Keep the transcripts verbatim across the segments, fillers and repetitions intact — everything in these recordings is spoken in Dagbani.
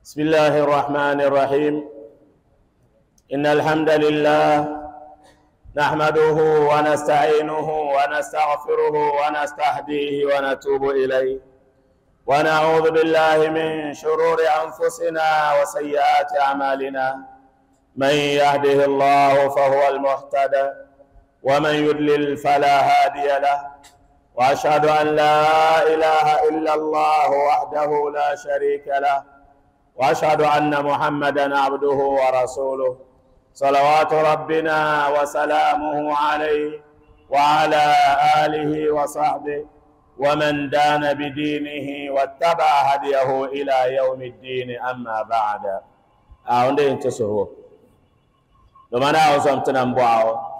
بسم الله الرحمن الرحيم إن الحمد لله نحمده ونستعينه ونستغفره ونستهديه ونتوب إليه ونعوذ بالله من شرور أنفسنا وسيئات أعمالنا من يهده الله فهو المهتد ومن يضلل فلا هادي له وأشهد أن لا إله إلا الله وحده لا شريك له وأشهد أن محمدا عبده ورسوله صلوات ربنا وسلامه عليه وعلى آله وصحبه ومن دان بدينه واتبع هديه إلى يوم الدين. أما بعد، أعوذ انتسهو لمن أعوذ تنبعه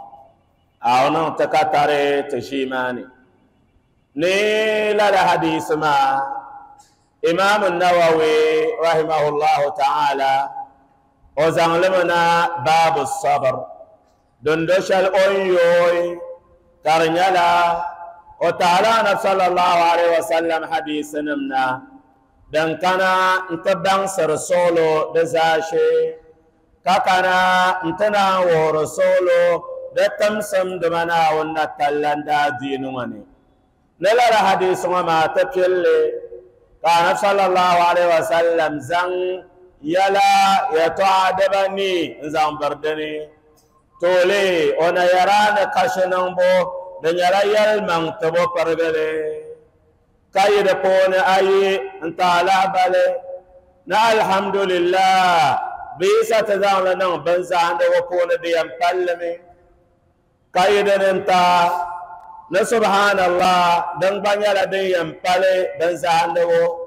أعوذ تكتري تشيماني نيل الحديث ما إمام النووي رحمه الله تعالى وزعلمنا باب الصبر دندش الأيوي كرنيلا وتعالى صلى الله عليه وسلم حديث نمنا دنكنا انتبان سرسولو دزاشي كاكنا انتنا ورسولو دتمسم دمنا ونتلن دا دينوني نلا الحديث وما تبيلي كان صلى الله عليه وسلم زن يلا يتعدبني زن بردني تولي وانا يران كشنبو دنيا يلمن تبو پرگلي كايد پون اي انت على بالي نا الحمد لله بيسا تزان لنا بنزان دو پون ديام پلمي كايد انت na subhanallah dan banyala din yampale dan zahandawo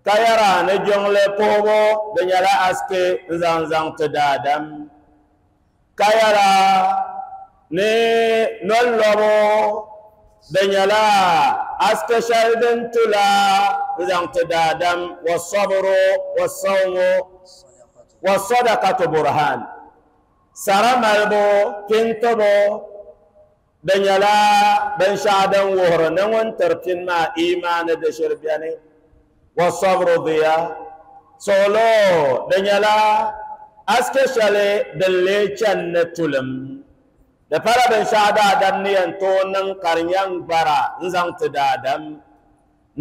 kayara na jongle pobo da nyala aske zanzan ta dadam kayara ne nolobo da nyala aske shaldin tula zan ta dadam wasabru wasawmu wasadaqatu burhan saramalbo kintobo دنيلا بن شعدن وهر نون ترتين ما إيمان دشر بياني والصبر ضياء سولو دنيلا أسكشلي دلي چن تلم دفر بن شعدا دنيان تونن قرنيان برا نزان تدادم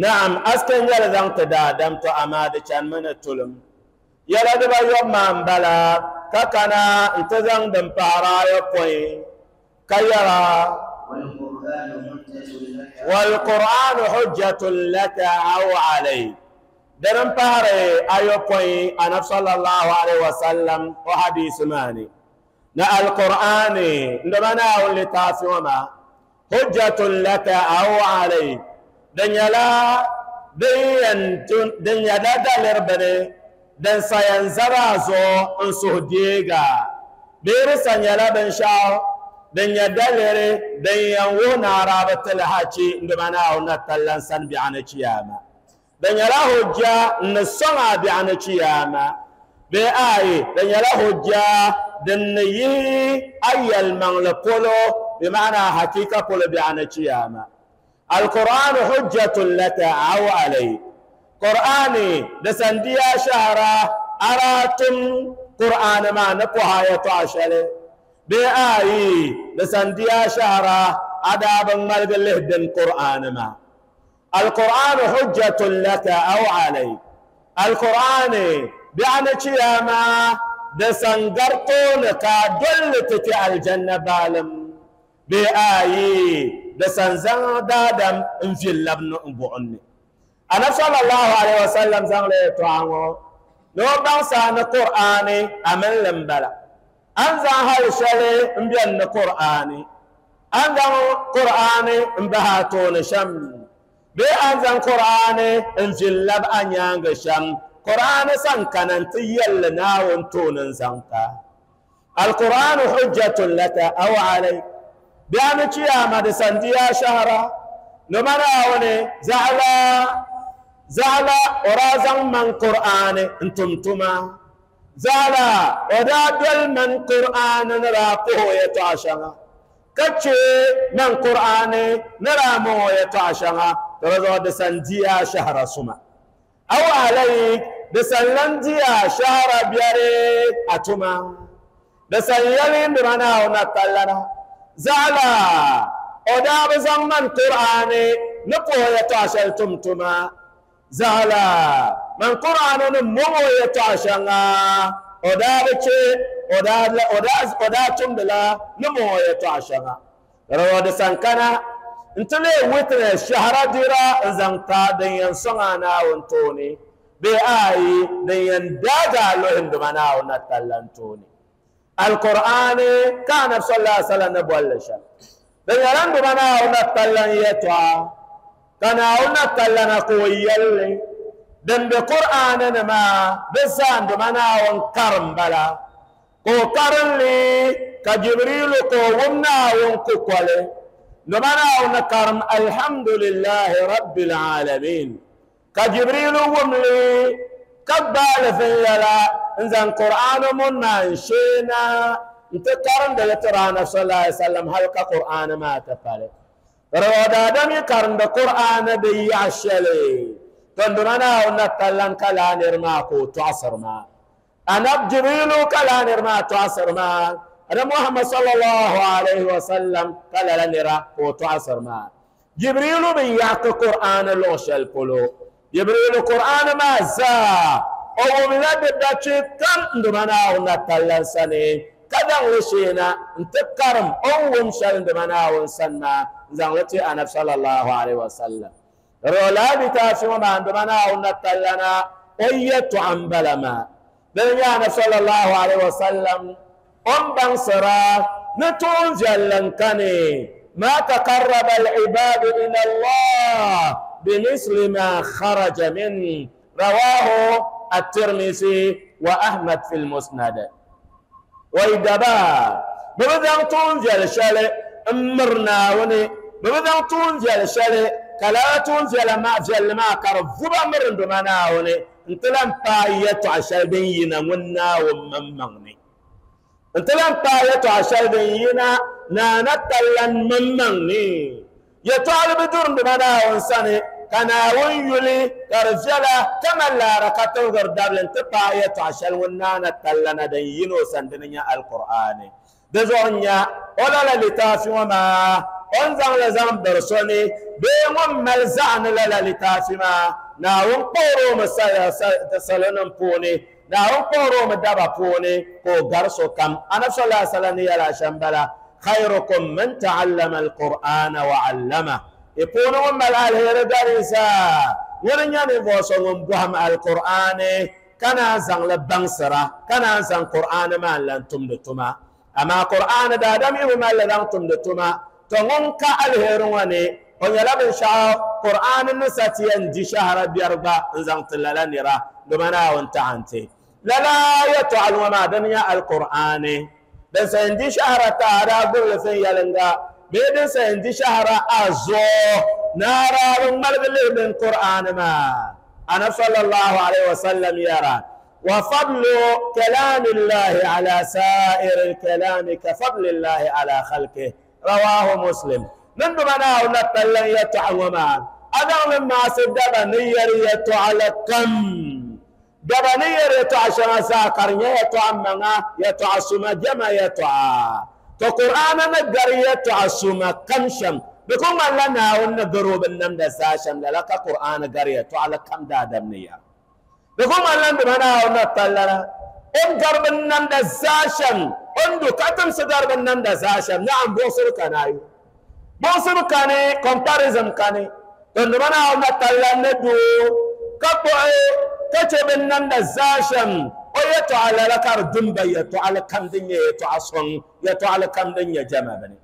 نعم أسكن يلا زان تدادم تو أماد چن من تلم يلا دبا يوم من بلا ككنا انتزان دم پارا يقوين كيرا والقرآن حجة لك أو عليك درم باري أيوكوي أنا صلى الله عليه وسلم وحديث ماني نا القرآن عندما نقول لتاسوما حجة لك أو عليك دنيا لا دنيا لا دلر بني دن سينزرازو انسوه ديغا بيرسان يلا بنشاو دنيا دلري دنيا ونا رابط الحاجي عندما ناونا تلنسان بيانا چياما دنيا لا حجة نسونا بيانا چياما بآي دنيا لا حجة دنيا أي المغلقولو بمعنى حقيقة قولو بيانا چياما القرآن حجة لك أو علي قرآني دسنديا شهرا أراتم قرآن ما نقوها يتعشلي بآي لسنديا شهرا عذاب ملك لهدن قرآن ما القرآن حجة لك أو عليك القرآن بأن شياما دسنقرطون كدلتك الجنة بالم بآي دسنزن دادم انفي اللبن انبعني أنا صلى الله عليه وسلم زن ليتوانو لو بانسان القرآن أمن لنبلا أنزل هالشلي مبين القرآن أنزل قرآن مبهاتون شم بي أنزل قرآن انجلب أنيانغ شم قرآن سنكن انتيل ناون زنكا القرآن حجة لك أو عليك بأن قيامة سنديا شهرا نمراوني زعلا زعلا ورازن من قرآن انتم تما زالا ودادل من قرآن نراقه يتعشنا كتشي من قرآن نرامه يتعشنا ترزو دسنديا شهر سما أو عليك Di san lan diya shahara biɛri a tuma di san yɛli n duma Naawuni na tallana zaɣala o daa bi zaŋ man Qur'ani ni puhi yɛltɔɣa shɛli tum tuma zaɣala man Qur'ani ni moŋo yɛltɔɣa shɛŋa o daa bi che o daa o daa tumdila ni moŋo yɛltɔɣa shɛŋa rawa di san kana n ti lee witness shahara dira n zaŋ ta din yɛn sɔŋ a Naawuni tooni bee ayi din yɛn daaga a luhi n duma Naawuni na tallan tooni alqur'ani ka anabi sallallahu alaihi wasallam ni bolli shɛm di nyɛla n duma Naawuni na tallan yɛltɔɣa ka Naawuni na tallana ka o yɛlli din be Qur'ani ni maa di zaa n duma Naawuni karim bala ka o karinli ka Jibrilu ka o wum Naawuni kukoli duma Naawuni karim alhamdulillahi rabbil alamin ka Jibrilu wumli ka gbaali vinyɛla n zaŋ Qur'ani mun maa n sheena n ti karindili tiri anabi sallallahu alaihi wasallam hali ka Qur'ani maa ti pali rawa daadam yi karindi Qur'ani di yaɣa shɛli to n duma Naawuni na tallan ka laa niri maa ka o tɔɣisiri maa anab Jibrilu ka laa niri maa tɔɣisiri maa ana Muhammad sallallahu alaihi wasallam ka lala nira ka o tɔɣisiri maa Jibrilu bi yaɣaki Qur'ani luɣ shɛli polo Jibrilu Qur'ani maa zaa o wumla di dachi kam n duma Naawuni na tallan sani ka daŋ li sheena n ti karim o ni wum shɛli n duma Naawuni sani maa n zaŋ li ti anabi sallallahu alaihi wasallam rola litaafi ŋɔ maa n duma Naawuni na tallana o yɛltɔɣa n bala maa dini nyɛ anabi sallallahu alaihi wasallam o ni baŋsira ni tuun viɛlli n kani ma taqarraba al-ibadu ila Allah بمثل ما خرج من رواه الترمذي وأحمد في المسند ويدبا ببدان تون جل شلي امرنا وني ببدان تون جل شلي كلا تون جل ما جل ما كرفبا مرن دمانا وني انتلام بايتو عشال بينا ونا وممغني انتلام بايتو عشال بينا نانا تلان ممغني يطالب دور بمنا وانساني كان ويولي كرجلا كما لا ركتو غردابل انتبا يتعشل ونانا تلنا دينو سندنيا القرآن دزونيا ولا لا لتافي وما انزان لزان برسوني بيوم ملزان لا لتافي ما ناون قورو مسايا سلنم بوني ناون قورو مدابا بوني كو غرسو كم انا صلى الله عليه وسلم يلا شمبلا خيركم من تعلم القرآن وعلمه يكونوا من الهير دارسا ورنيا نفوسهم بهم القرآن كان زان لبنسرة كان زان قرآن ما لن تمدتما أما قرآن دادم ما لن تمدتما تنون كالهيروني ونيلا بن شاء قرآن نساتي اندي شهر بيربا زان تلالانيرا دمنا وانت عنتي لا لا يتعلم ما دنيا القرآن din san di shahara taara gbubili fin yɛlinga bee din san di shahara a zuɣu naara bi ŋmaligi lihi din Qur'ani maa anabi sallallahu alaihi wasallam yɛra wa fadlu kalamillahi ala sa'iri kalami ka fadlillahi ala khalqihi rawahu Muslim nin duma Naawuni na tallan yɛltɔɣa ŋɔ maa a daŋ ni maasi daba ni yɛri yɛltɔɣa la kam daba ni yɛri yɛltɔɣa shɛŋa zaa ka di nyɛ yɛltɔɣa maŋa yɛltɔɣa suma jɛma yɛltɔɣa to Qur'ana ni gari yɛltɔɣa suma kam shɛm di ku ŋmanila Naawuni ni gari o binnamda zaa shɛm lala ka Qur'ana gari yɛltɔɣa la kam daadam ni yɛra di ku ŋmanila n duma Naawuni na tallana o ni gari binnamda zaa shɛm o ni du ka timsi gari binnamda zaa shɛm naam buɣisiri kani ayi buɣisiri kani comparison kani to n duma Naawuni na tallana ni du ka kpuɣi ka che binnamda zaa shɛm o yɛltɔɣa lala ka di dumba yɛltɔɣa li kam din nyɛ yɛltɔɣa sɔŋ yɛltɔɣa li kam din nyɛ jɛma bini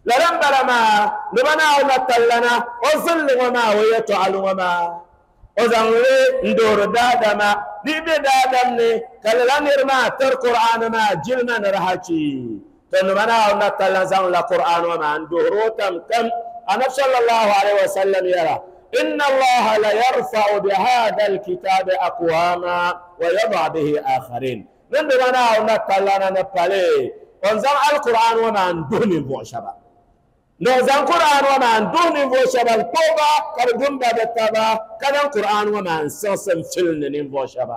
lala n bala maa duma Naawuni na tallana o zilli ŋɔ maa o yɛltɔɣa li ŋɔ maa o zaŋ li n doori daadama di be daadam ni ka lala niri maa tiri Qur'ani maa jilima ni di hachi to duma Naawuni na tallana zaŋ la Qur'ani ŋɔ maa n doori o tam kam anabi sallallahu alaihi wasallam yɛra إن الله لا يرفع بهذا الكتاب أقواما ويضع به آخرين من دمنا ونطلنا نبالي ونزم القرآن وما ندوني بوشبا No zan Qur'an wa man duh ninvuɣu shɛba n kpuɣiba ka bi dumba bi taba ka zaŋ Qur'an ŋɔ maa n siɣisi n filindi ninvuɣu shɛba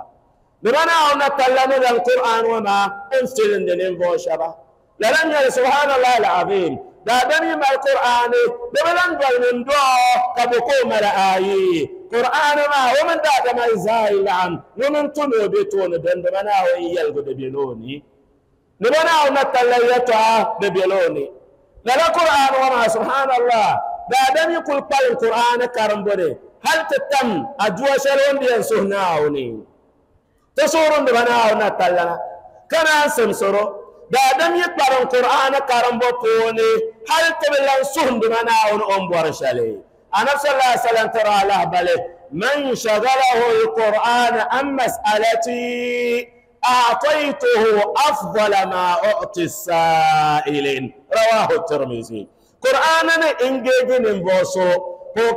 di ba Naawuni na talla ni zaŋ Qur'an ŋɔ maa n filindi ninvuɣu shɛba lala n nyɛli subhanallah alazim daadam yi mali Qur'ani di bi lan doli ŋun doo ka bo ka o mali ayi Qur'ani maa o mini daadama yi zaa yi laɣim ŋuni n tu ni o be tooni din di ba Naawuni yɛligu di be la o ni di ba Naawuni na talla yɛltɔɣa di be la o ni lala Qur'an ŋɔ maa subhanallah daadam yi kuli kpalim Qur'ani karimbu ni hali ti tam aduwa shɛli o ni yɛn suhi Naawuni ti suhurin di ba Naawuni na tallana ka naan simsiro daadam yi kpalim Qur'ani karimbu puuni hali ti bi lan suhindi ba Naawuni o ni bɔri shɛli Annabi sallallahu alaihi wasallam tiri alahibali man shagalahu al-Qur'an an mas'alati أعطيته أفضل ما أعطي السائلين رواه الترمذي قرآن إنجيجي نبوسو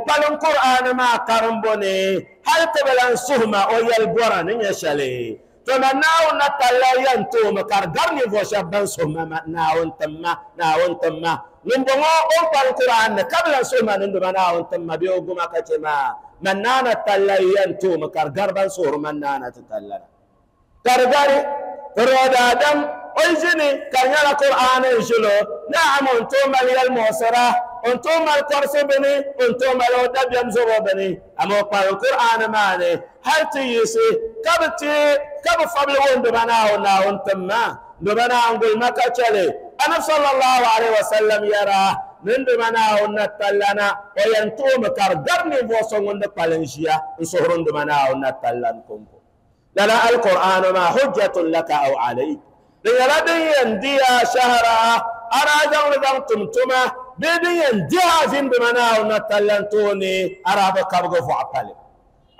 قال قرآن ما كرمبوني هل تبلان سهما أو يلبورا نيشالي تمناو نتلا ينتو مكاردر نبوشا بان سهما ناون تما ناون تما نبغو أو القرآن قبل سهما نندما ناون تما بيوغما كتما منانا تلا ينتو مكاردر بان سهر منانا تتلا gargari rodadam oljini karnyala Qur'an jilo na'am onto mal yal mu'sara onto mal korsi bini onto mal odabyam zobo bini amo pa Qur'an mane hal tiyisi kabti kab fabli wondo bana ona ontamma do bana angul makachale ana sallallahu alaihi wasallam yara min do bana onna tallana o yanto makar garni voso ngonde palenjia nsohron do bana onna tallan kompo لنا القرآن ما حجة لك أو عليك لأن ينديها شهرا أرى جمع تمتما بيدي ينديها فين بمنا ونتلنتوني أرى بكبغ فعبالي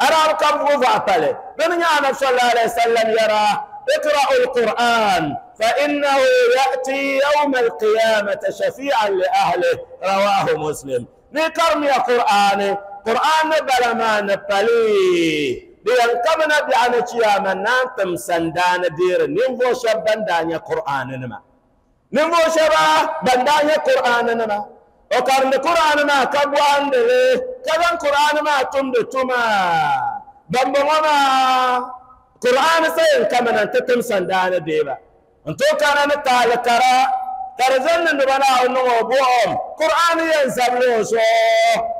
أرى بكبغ فعبالي من يعلم صلى الله عليه وسلم يرى اقرأ القرآن فإنه يأتي يوم القيامة شفيعا لأهله رواه مسلم نكرم يا قرآن قرآن بلا ما نبالي لأن كمنا بأن قيامة نانتم سندان دير نينفو شبان دانيا قرآن نما نينفو شبا بندانيا قرآن نما وكارن قرآن ما كبوان دلي كذا قرآن ما تمد تما بمبوما قرآن سين كمنا تتم سندان ديبا انتو كان نتالكرا ترزن نبنا ونو بوم قرآن ينزبلو سو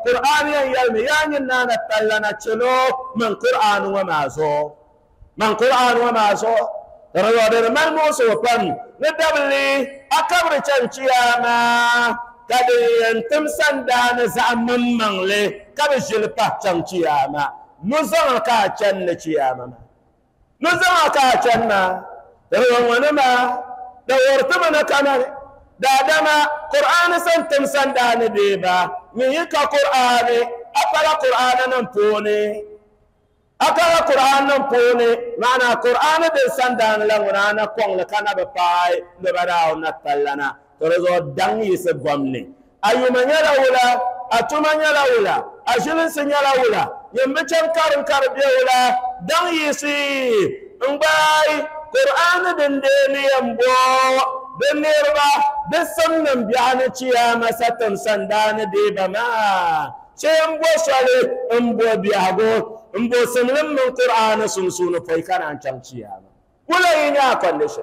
قرآن يلمي يعني نانا تلنا تشلو من قرآن وما سو من قرآن وما سو ترى من موسو بن ندبلي أكبر تشياما كدي ينتم سندان زعم من لي كبشل باتشياما نزل كاتشن تشياما نزل كاتشن ترى ونما دورتمنا كمان دادما قرآن سنتم سندان ديبا ميكا قرآن أقرأ قرآن نمبوني أقرأ قرآن نمبوني معنى قرآن دي سندان لغنانا قوان لكنا بباي لبراو نتلنا ترزو دان يسبومني أيوما يلا ولا أتوما يلا ولا أجلن سنيلا ولا يمبتشن كارن كاربيا ولا دان يسي مباي قرآن دندني يمبو دنيربا دسمن بيان تشياما ستم سندان ديبا ما شيمبو شالي امبو بياغو امبو سنلم من قرآن سنسون فايكان عن تشياما ولا ينيا كونديشن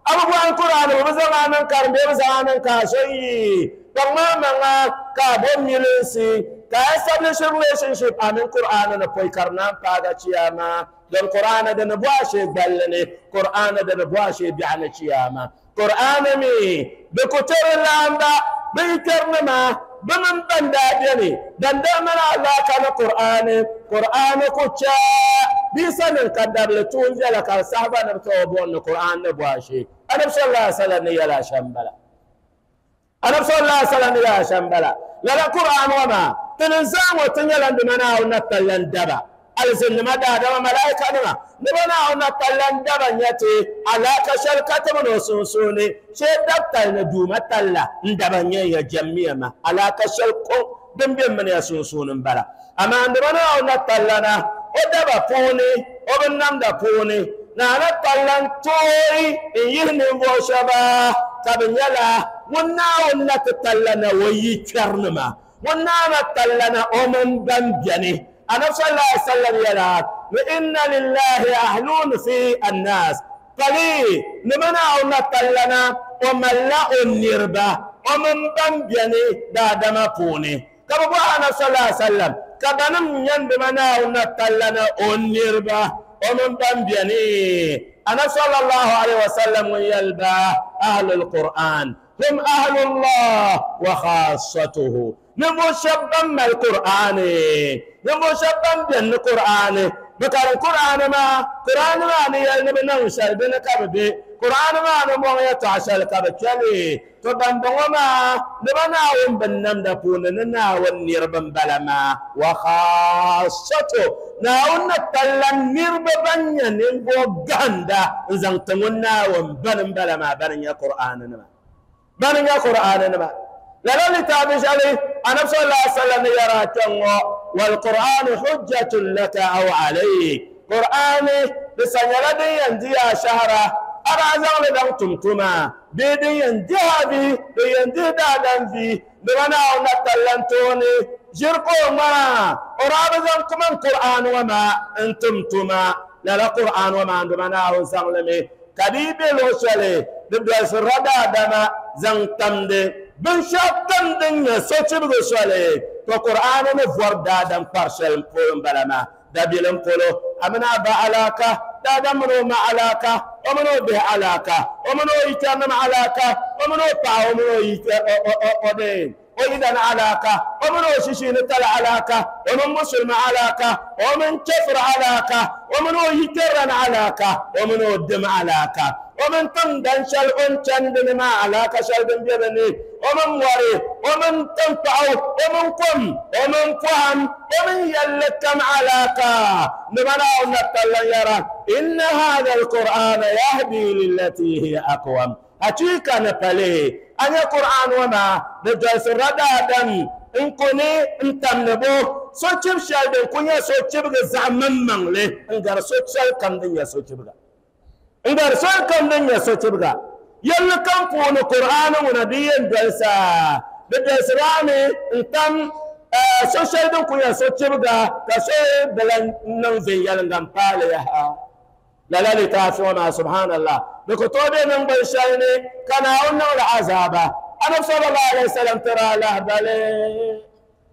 أبو بوان قرآن وبزمان كارم بزمان كاشي بما كابو ميلسي ka establish relationship amin Qur'an na poikarna paga chiyama don Qur'an da na buashe ballane Qur'an da na buashe bi'ana chiyama Qur'an mi be ko tere lamba be terna ma be man banda bene dan da mana Allah kana Qur'an Qur'an ko cha bi sanin kadar le tun jala ka sahaba na to bon Qur'an na buashe Annabi sallallahu alaihi wasallam ne yala shambala Annabi sallallahu alaihi wasallam ne yala shambala lala Qur'an wa ma تنزام وتنيلان بمنا ونتلان دبا الزن ما دا دا ملائكة نما نبنا ونتلان دبا نيتي على كشل كتم نوسونسوني شيء دبتا ندوما تلا ندبا نيا جميع ما على كشل كو دم من يسونسون بلا أما نبنا ونتلانا ودبا فوني وبنام دا فوني نانا تلان توي يهني وشبا كابنيلا ŋun na ti tallana o yi kpɛrinima ŋun naana tallana o mini ban beni anabi sallallahu alaihi wasallam yɛla ni inna lillahi ahlun fi annas pali ni bi naawuni na tallana o malila o niriba o mini ban beni daadama puuni ka bi bɔhi anabi sallallahu alaihi wasallam ka banim nyɛndima naawuni na tallana o niriba o mini ban beni anabi sallallahu alaihi wasallam ŋun yɛli ba ahlul qur'an hum ahlullah wa khassatuhu ninvuɣu shɛba ban mali qur'ani ninvuɣu shɛba ban beni ni qur'ani bi karim qur'ani maa qur'ani maa ni yɛli ni bi niŋ shɛli dini ka bi be qur'ani maa ni mɔŋ yɛltɔɣa shɛli ka bi kpɛli to ban bɔŋɔ maa ni ba naawuni bin namda puuni ni naawuni niriba n bala maa wa khassatu naawuni ni talla niriba ban nyɛ ninvuɣu gahinda n zaŋ ti ŋun naawuni bani n bala maa bani n nyɛ qur'ani nima bani n nyɛ qur'ani nima lala litaafi shɛli anabi sallallahu alaihi wasallam ni yɛra kpɛŋŋɔ walqur'anu hujjatun laka aw alayk qur'ani di sa nyɛla din yɛn di a shahara a daa zaŋli daŋ tum tuma bee din yɛn dihi a vi din yɛn dihi daadam vi di ba naawuni na tallan tooni ʒiri ka o ŋmaa o daa bi zaŋ kaman qur'ani ŋɔ maa n tum tuma lala qur'ani ŋɔ maa di ba naawuni zaŋli mi ka di yi be luɣu shɛli di dolisirila daadama zaŋ tamdi binshɛɣu kam din nyɛ sochibigi soli to qur'ani ni vɔri daadam kpari shɛli polo n bala maa dabilim polo a mini a ba alaka daadam mini o ma alaka o mini o bihi alaka o mini o yikpɛrinima alaka o mini o paɣa o mini o o o yidana alaka o mini o shishiini tali alaka o mini musulimi alaka o mini chɛfiri alaka o mini o yikpɛrilana alaka o mini o dim alaka o mini tiŋdan shɛli o ni chandi ni maa alaka shɛli din be bi ni o mini mɔri o mini tankpaɣu o mini kom o mini pɔhim o mini yɛlli kam alaka ni ba naawuni na tallan yɛra inna hadha alqur'ana yahdi lillati hiya aqwam hakika ni pali a nyɛ qur'an ŋɔ maa di dolisirila daadam n kuni n tamdi bo sochib shɛli din ku nyɛ sochibigi zaɣ maŋmaŋli n gari so shɛli kam din nyɛ sochibiga n gari soli kam din nyɛ sochibiga yɛlli kam puuni qur'ani ŋuna di yɛn dolisa di dolisirami n tam so shɛli din ku nyɛ sochibiga ka so bi lan niŋ viɛnyɛliŋga n paali yaha lala litaafi ŋɔ maa subhanallah di ku tooi be niŋgbuni shɛli ni ka naawuni niŋli azaaba anabi sallallahu alaihi wasallam tiri lahibali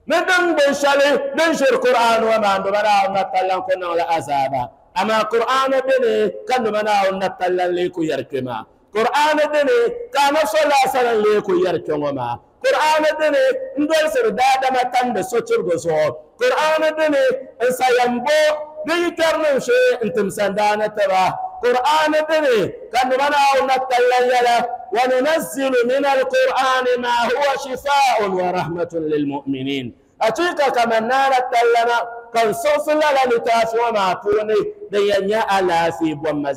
ni niŋgbuni shɛli din ʒiri qur'ani ŋɔ maa nduba naawuni na tallan ku niŋli azaaba ama qur'ani beni ka nduba naawuni na tallan lee ku yɛri kpɛ maa qur'ani beni ka anabi sallallahu alaihi wasallam lee ku yɛri kpɛ ŋɔ maa qur'ani beni n dolisiri daadama tamdi sochirigu zuɣu qur'ani beni n sayambo di yikpɛrinim shee n tim sandaani tiba qur'ani beni ka nduba naawuni na tallan yɛla وننزل من القرآن ما هو شفاء ورحمة للمؤمنين أتيك كما نار التلنا كان صوص للا لتافي وما فوني دي ألافي بوما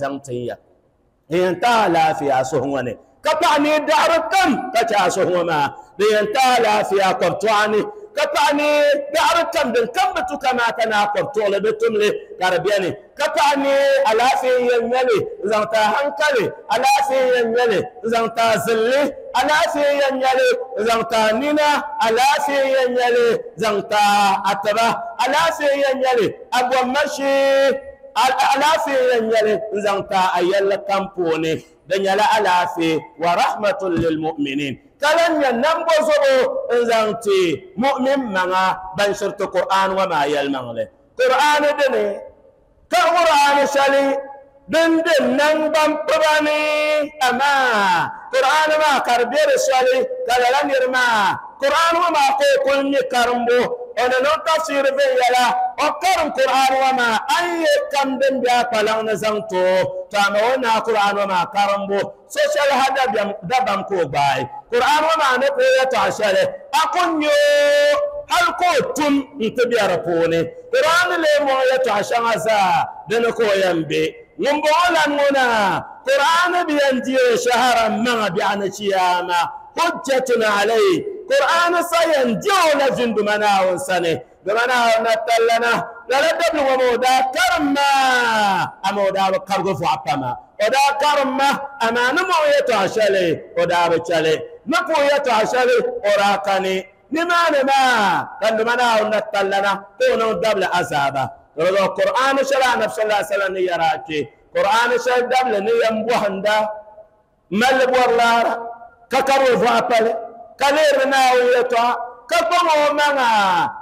ينتا لافي أسهوني كطعني دعر كم كتا دي ينتا لافي أقبطعني كطعني دعر كم دن كم بتو كما تنا قبطولي بتملي كربياني كطعني ألافي ينيلي زنتا هنكلي ألافي ينيلي زنتا زلي ألافي ينيلي زنتا نينا ألافي ينيلي زنتا أتبا ألافي ينيلي أبو مشي alaafee yɛn nyɛli n zaŋ ta a yɛlli kam puuni di nyɛla alaafee wa rahmatun lilmu'minin ka lan nyɛ nambo zuɣu n zaŋ ti mu'min maŋa ban shiriti qur'an ŋɔ maa yɛlimaŋli qur'ani dini ka qur'ani shɛli din di nangban piba ni amaa qur'ani maa ka di be di shɛli ka lala niri maa qur'ani ŋɔ maa ka o kuli nyɛ karimbu ona niŋ tafsiri viɛnyɛla o karim qur'an ŋɔ maa a ni yɛ kam din be a kpalaŋ ni zaŋ ti o to ama o naai qur'an ŋɔ maa karimbu so shɛli ha dabam ka o gbaai qur'an ŋɔ maa ni ka o yɛltɔɣa shɛli a ku nyɛ hali ka o tum n-ti be di puuni qur'an lee mɔŋ yɛltɔɣa shɛŋa zaa dini ka o yɛn be ŋun bɔŋɔ lan ŋuna qur'an bi yɛn di o shahara maŋa biɛɣu ni chiyaama hujjatun alayhi قرآن سين ديولا جند منا ونسني دمنا ونتلنا لا دبل ومودا كرما أمودا بكرغ فعبما ودا كرما أما نمو يتعشلي ودا بتشلي Ni puhi yɛltɔɣa shɛli o daa kani nimaani maa ka nduma Naawuni na tallana ka o niŋ dabili azaaba. Di Qur'an shɛli Anabi sallallahu alaihi wasallam ni yɛra kpe Qur'an shɛli dabili ni yɛn bɔhinda mali bɔri laara ka kari o vɔɣa pali ka lihiri Naawuni yɛltɔɣa ka kpaŋ o maŋa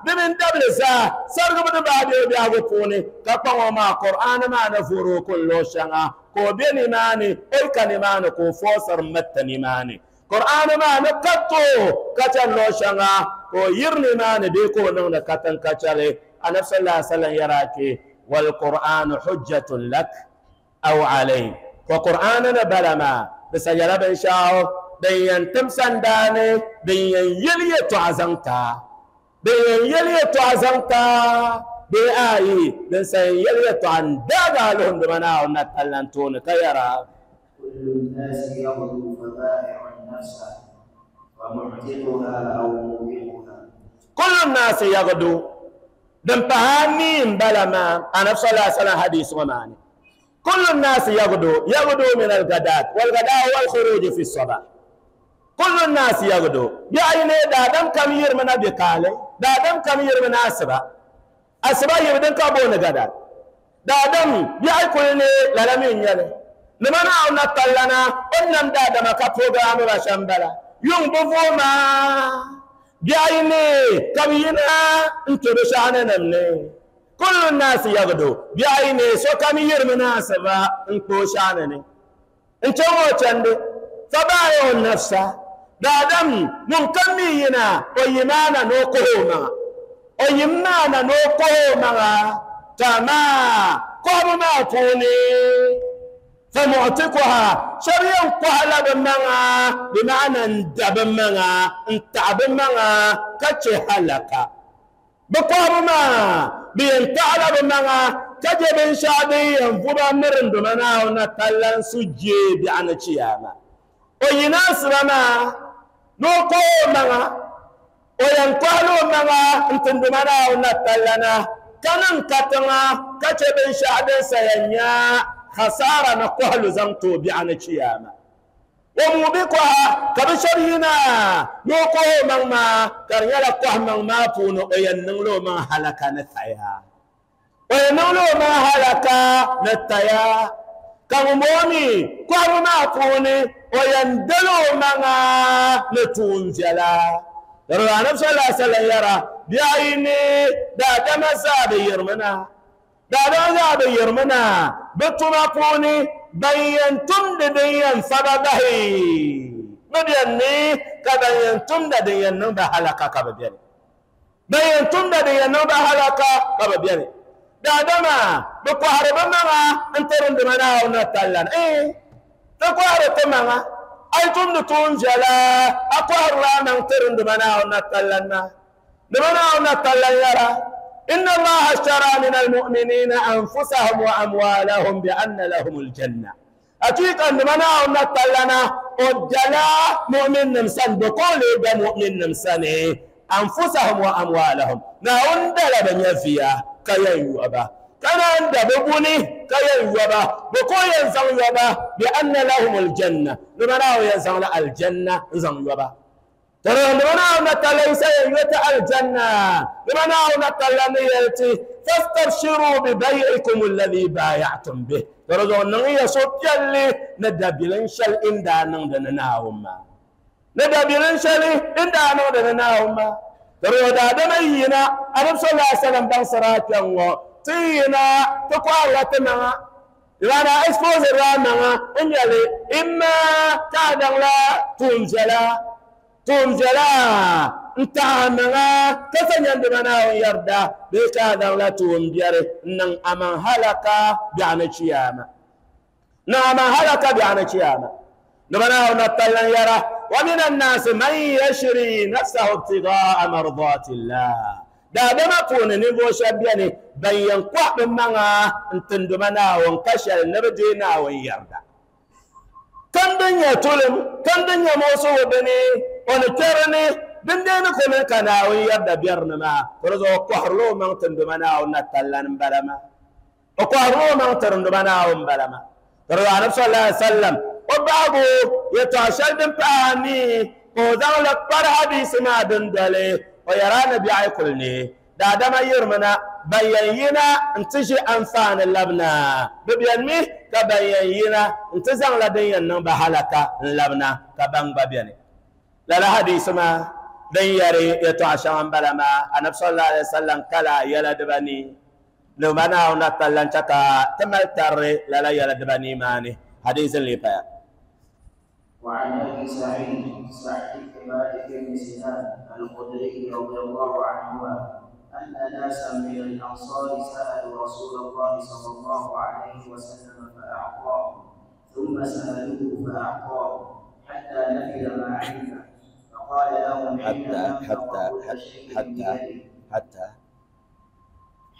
di mini dabili zaa sarigibu di baa bɛ o biɛhigu puuni ka kpaŋ o maa Qur'an maa ni vuhiri o kuli luɣu shɛŋa ka o bɛ nimaani o yi ka nimaani ka o foosiri miriti nimaani Qur'an maa ni ka to ka chani luɣu shɛŋa ka o yiri nimaani bee ka o niŋdi katiŋ ka chɛli. Anabi sallallahu alaihi wasallam yɛra kpe wal Qur'anu hujjatun lak aw alayk wa Qur'an ni bala maa di sa nyɛla binshaɣu din yɛn tim sandaani din yɛn yɛli yɛltɔɣa zaŋ taa din yɛn yɛli yɛltɔɣa zaŋ taa bee ayi din sa yɛn yɛli yɛltɔɣa n daagi a luhunduma Naawuni na tallan tooni ka yɛra كل الناس يغدو فبائع نفسه ومعتقها أو موبقها كل الناس يغدو دم بهاني بلا ما أنا صلى الله عليه وسلم حديث وماني كل الناس يغدو يغدو من الغداة والغداء هو الخروج في الصباح كل الناس يغدو يعني دادم كم يرمنا بقالي دادم كم يرمنا أسبا أسبا يبدن كابون غداة دادم يأكلني للمين يلي لمن أونا تلنا أنم دادم كبروغرام بشامبلا يوم بفوما بيعيني كمينا انتو بشانا نمني كل الناس يغدو بيعيني سو كمير مناسبة انتو شانني انتو موچندي فبايعوا النفس دادم من كمينا ويمانا نوكوما ويمانا نوكوما تما قوم ما فوني فمعتقها شريان قهلا بمنا بمعنى اندب منا انتعب منا كتش حلقة بقوم ما بينتعب بمنا كجب شعبي ينفب مرن بمنا ونتلن سجي بعنى شياما ويناس بما نوكو منا وينقالو منا انتن بمنا ونتلنا كنن كتنا كجب شعبي سينيا خسارة نقهل زنتو بعنى شياما وموبقها كبشرينا نوكو من ما كريالا قه من ما فونو ويننلو ما هلك نتايا ويننلو ما هلك نتايا كمومي قه ما فوني ويندلو من نتونجلا يرى نفس الله صلى الله يرى بعيني دا دم زابي يرمنا دا دم زابي يرمنا بتما فوني بينتم دين سببه مبيني كبينتم دين نبه هلكا كبيني بينتم دين نبه هلكا كبيني دادما بقهر بمنا انترن دمنا ونتلن ايه تقهر تمنا ايتم نتونجلا اقهر لا ننترن دمنا ونتلن دمنا ونتلن يرى إن الله اشترى من المؤمنين أنفسهم وأموالهم بأن لهم الجنة. أتيك أن منا ونطلنا أجلا مؤمن نمسان بقول مؤمن نمسان أنفسهم وأموالهم نعند لبن فيها كي يوبا كان عند ببني كي يوبا بقول ينزل يوبا بأن لهم الجنة لمنا ينزل الجنة ينزل يوبا ترى لمنا نتليس يوت الجنة لمنا نتلنيتي فاستبشروا ببيعكم الذي بايعتم به ترى نغي صوت يلي ندبلن شل إن دانن دناهما ندبلن شل إن دانن دناهما ترى دادمينا أنا صلى الله عليه وسلم بنصرات يوم تينا تقوى تنا لأن إسفوز الرامنا إن يلي إما كادن لا تنزلا تنزلا انتعامنا كسن يندمنا ويردا بكذا لا تنبير نن أمن هلك بعنى شياما نعم هلك بعنى شياما نبنا ونطلن يرى ومن الناس من يشري نفسه ابتغاء مرضات الله دادما كون نبو شبياني بين قوة منا انتندمنا وانكشل نبدينا ويردا كم دنيا تولم كم دنيا موسو بني ونكرني دندين كون كنا ويردا بيرنا فرزو قهرلو من تندمنا ونتلن بلما وقهرلو من تندمنا ومبلما فرزو النبي صلى الله عليه وسلم وبابو يتعشل دم باني Ko zaŋ la kpari hadisi maa dindoli o yɛra ni biɛɣu kuli ne daadama yirimi ban yɛn yina n-ti ʒi anfaani labina bɛ bɛni mi ka ban yɛn yina n-ti zaŋla din yɛn niŋ ba halaka n-labina ka ban gba bɛni lala hadisi maa din yɛri yɛltɔɣa shɛŋa m-bala maa anabi sallallahu alaihi wasallam kala yɛla dibanii ni ba Naawuni na talla n-chɛ ka ti mali tarili lala yɛla dibanii maa ni hadisi n-lee paya. وعن أبي سعيد سعد بن مالك بن سنان الخدري رضي الله عنهما أن ناسا من الأنصار سألوا رسول الله صلى الله عليه وسلم فأعطاهم، ثم سألوه فأعطاهم حتى نفد ما عنده، فقال لهم حين أنفق كل شيء بيده حتى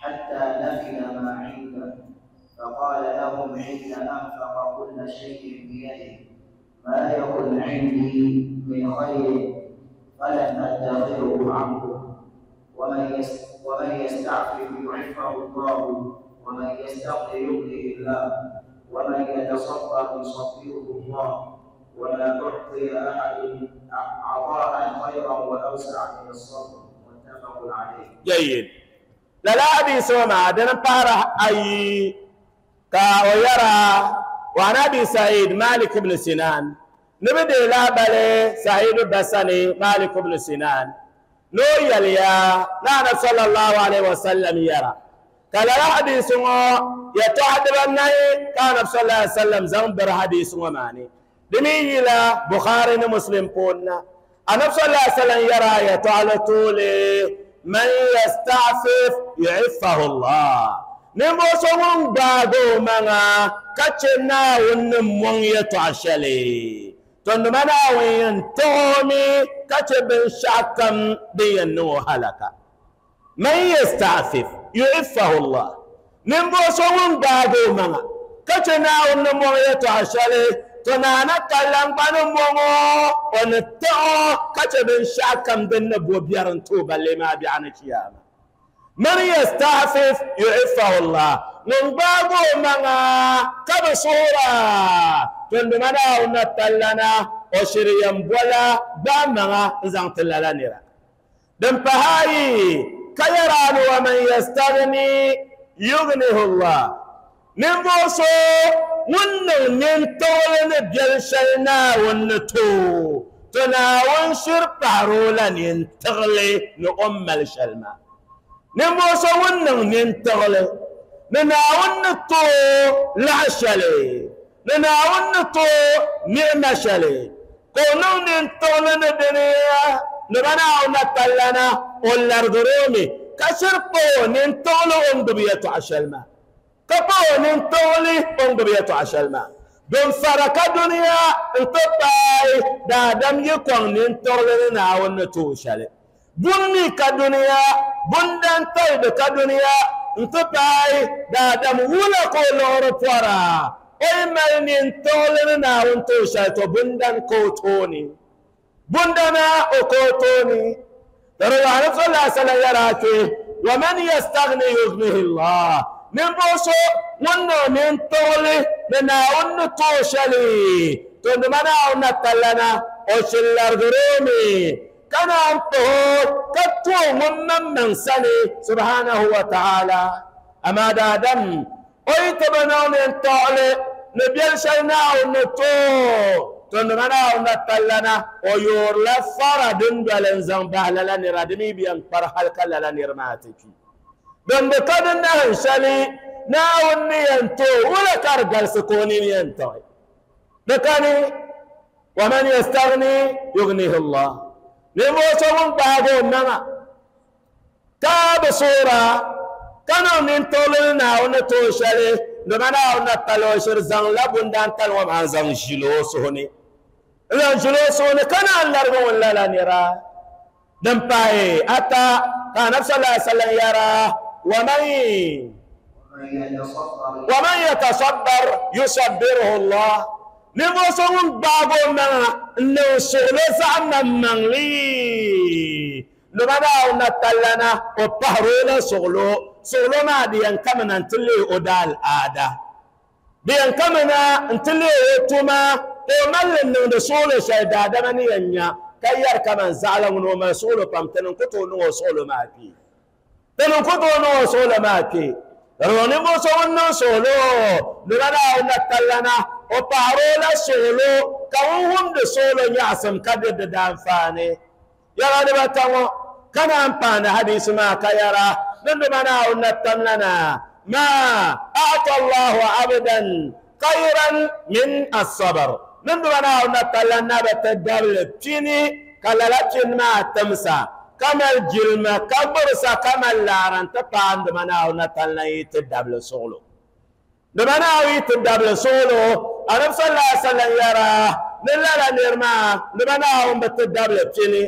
حتى نفد ما عنده فقال لهم حين أنفق كل شيء بيده ما يكن عندي من خير فلن أدخره عنكم، ومن ومن يستعفف يعفه الله، ومن يستغني يغنيه الله، ومن يتصبر يصبره الله، وما أعطي أحد عطاء خيرا وأوسع من الصبر. متفق عليه. جيد. لا حديث وما دنا بارا أي كا ويرى وعن أبي سعيد مالك بن سنان نبدي لا بلي سعيد بسني مالك بن سنان نو يليا نانا صلى الله عليه وسلم يرى قال حديث يتحدث النبي كان صلى الله عليه وسلم زنبر حديث وماني دمي لا بخاري مسلم كنا النبي صلى الله عليه وسلم يرى يتعالى طولي من يستعفف يعفه الله نمو سوون باغو مانا كاتشنا ونمون يتعشلي تندمنا وين تومي كاتش بن شاكم بينو هلكا من يستعفف يعفه الله نمو سوون باغو مانا كاتشنا ونمون يتعشلي تنانا كلام بانمو ونتو كاتش بن شاكم بن بيرن توبا لما بيعنا كياما من يستعفف يعفه الله من بابو منا كبصورة تندمنا ونتلنا وشريم بولا بامنا زانت لنا دم فهاي كيران ومن يستغني يغنيه الله من بوسو ون من تولن بيلشلنا ونتو تناون شرطارولا ينتغلي نؤم الشلمه نموسى ونن ننتغلي نناون تو لعشلي نناون تو نعمشلي كونو ننتغلي ندنيا نبنا ونتلنا والأرضرومي كشربو ننتغلي أمدبية عشلما كبو ننتغلي أمدبية عشلما دون فرق دنيا انتباي دادم يكون ننتغلي نناون توشلي bunni ka duniya bundan taybe ka duniya ntupay daadam wula ko loro pora oy mal nin tolni naawun to shay to bundan ko toni bundana o ko toni dara ya rasul sallallahu alaihi yarake wa man yastaghni yughnihi Allah min boso wonno min tolni naawun to shali to ndumana na talana o shillar gurumi كان أنتهو كتو ممن من سني سبحانه وتعالى أما دادم ويتبنون انتعلي نبيل شينا ونتو تنمنا ونتلنا ويور لفر دندل زنبه لنا ردمي بيان فرحل كلا نرماتك دم بكدن نهشلي ناوني انتو ولا كرجل سكوني ينتو بكاني ومن يستغني يغنيه الله نموسى من بعده نما تاب صورة كانوا من طولنا ونتوشلي نمنا ونتلوشر زن لبندان تلوم عن زن جلوسوني زن جلوسوني كان الأرض ولا لا نرى دمباي أتى كان نفس الله صلى الله يرى ومن ومن يتصبر يصبره الله نموسى من بعده نما نوصل زعما من لي نبدا ونتلنا وبهرونا شغلو شغلو ما ديان كمنا نتلي أدال آدا ديان كمنا نتلي أتوما ومال نوصل شيء دادمني ينيا ka yɛri kaman zaɣala ŋuni o mali suɣulo pam ti niŋ ku tooi niŋ o suɣulo maa kpee ti niŋ ku tooi niŋ o suɣulo maa kpee di ninvuɣu so ŋun niŋ suɣulo nima Naawuni na tallana o paɣari o la suɣulo ka ŋun wumdi suɣulo nyaɣasim ka di di daanfaani yɛla dibata ŋɔ ka naan paani hadisi maa ka yɛra ni nima Naawuni na tamlana ma a'ta Allahu abdan khayran min as-sabr ni nima Naawuni na tallan na bi ti dabili pini ka lala pini maa timsa ka mali jilima ka gburisa ka mali laara n-ti paai nima Naawuni na tallan yi ti dabili suɣulo nima Naawuni yi ti dabili suɣulo Anabi sallallahu alaihi wasallam yɛra ni lala niri maa nima Naawuni bi ti dabili pini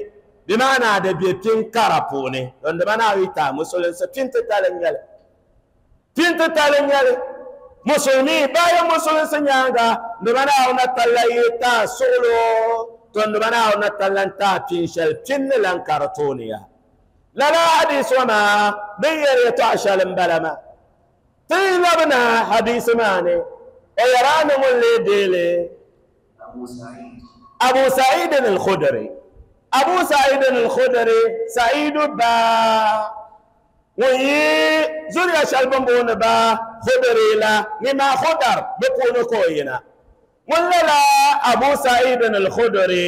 bimaana di be pin kara puuni don nima Naawuni yi taai musulinsi pin titali n-nyɛli pin titali n-nyɛli musulmi bayan musulinsi nyaaŋa nima Naawuni na tallan yi taai suɣulo to nima Naawuni na tallan taai pin shɛli pin ni lan ka di tooni ya lala hadisi ŋɔ maa din yɛri yɛtɔɣa shɛli m-bala maa ti yi labina hadisi maa ni o yɛra ni ŋun lee deeli أبو سعيد Abu Sa'id al-Khudri Abu Sa'id al-Khudri Sa'id ba ŋun yi zuriya shɛli bin booni ba Khudri la ni maa Khudar bi puuni ka o yina ŋun lala Abu Sa'id al-Khudri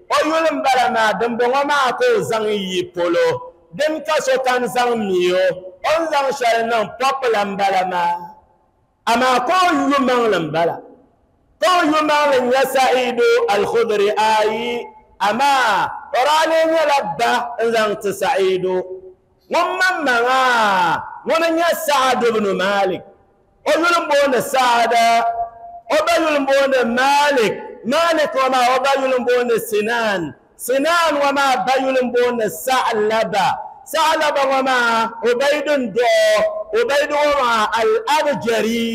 o yuli m-bala maa dimbɔŋɔ maa ka o zaŋ yi polo din ka sokam zaŋ mi o o ni zaŋ shɛli niŋ pɔpila m-bala maa amaa ka o yu maŋli m-bala ka o yu maŋli n-nyɛ Sa'idu al-Khudri ayi amaa o daa lee nyɛla ba n-zaŋ ti Sa'idu ŋun maŋmaŋa ŋuni n-nyɛ Sa'ad ibn Malik o yuli m-booni Sa'ad o ba yuli m-booni Malik Malik ŋɔ maa o ba yuli m-booni Sinan Sinan ŋɔ maa ba yuli m-booni Sa'laba Sa'laba ŋɔ maa Ubayd n-dɔɣi Ubayd ŋɔ maa Al-Abjari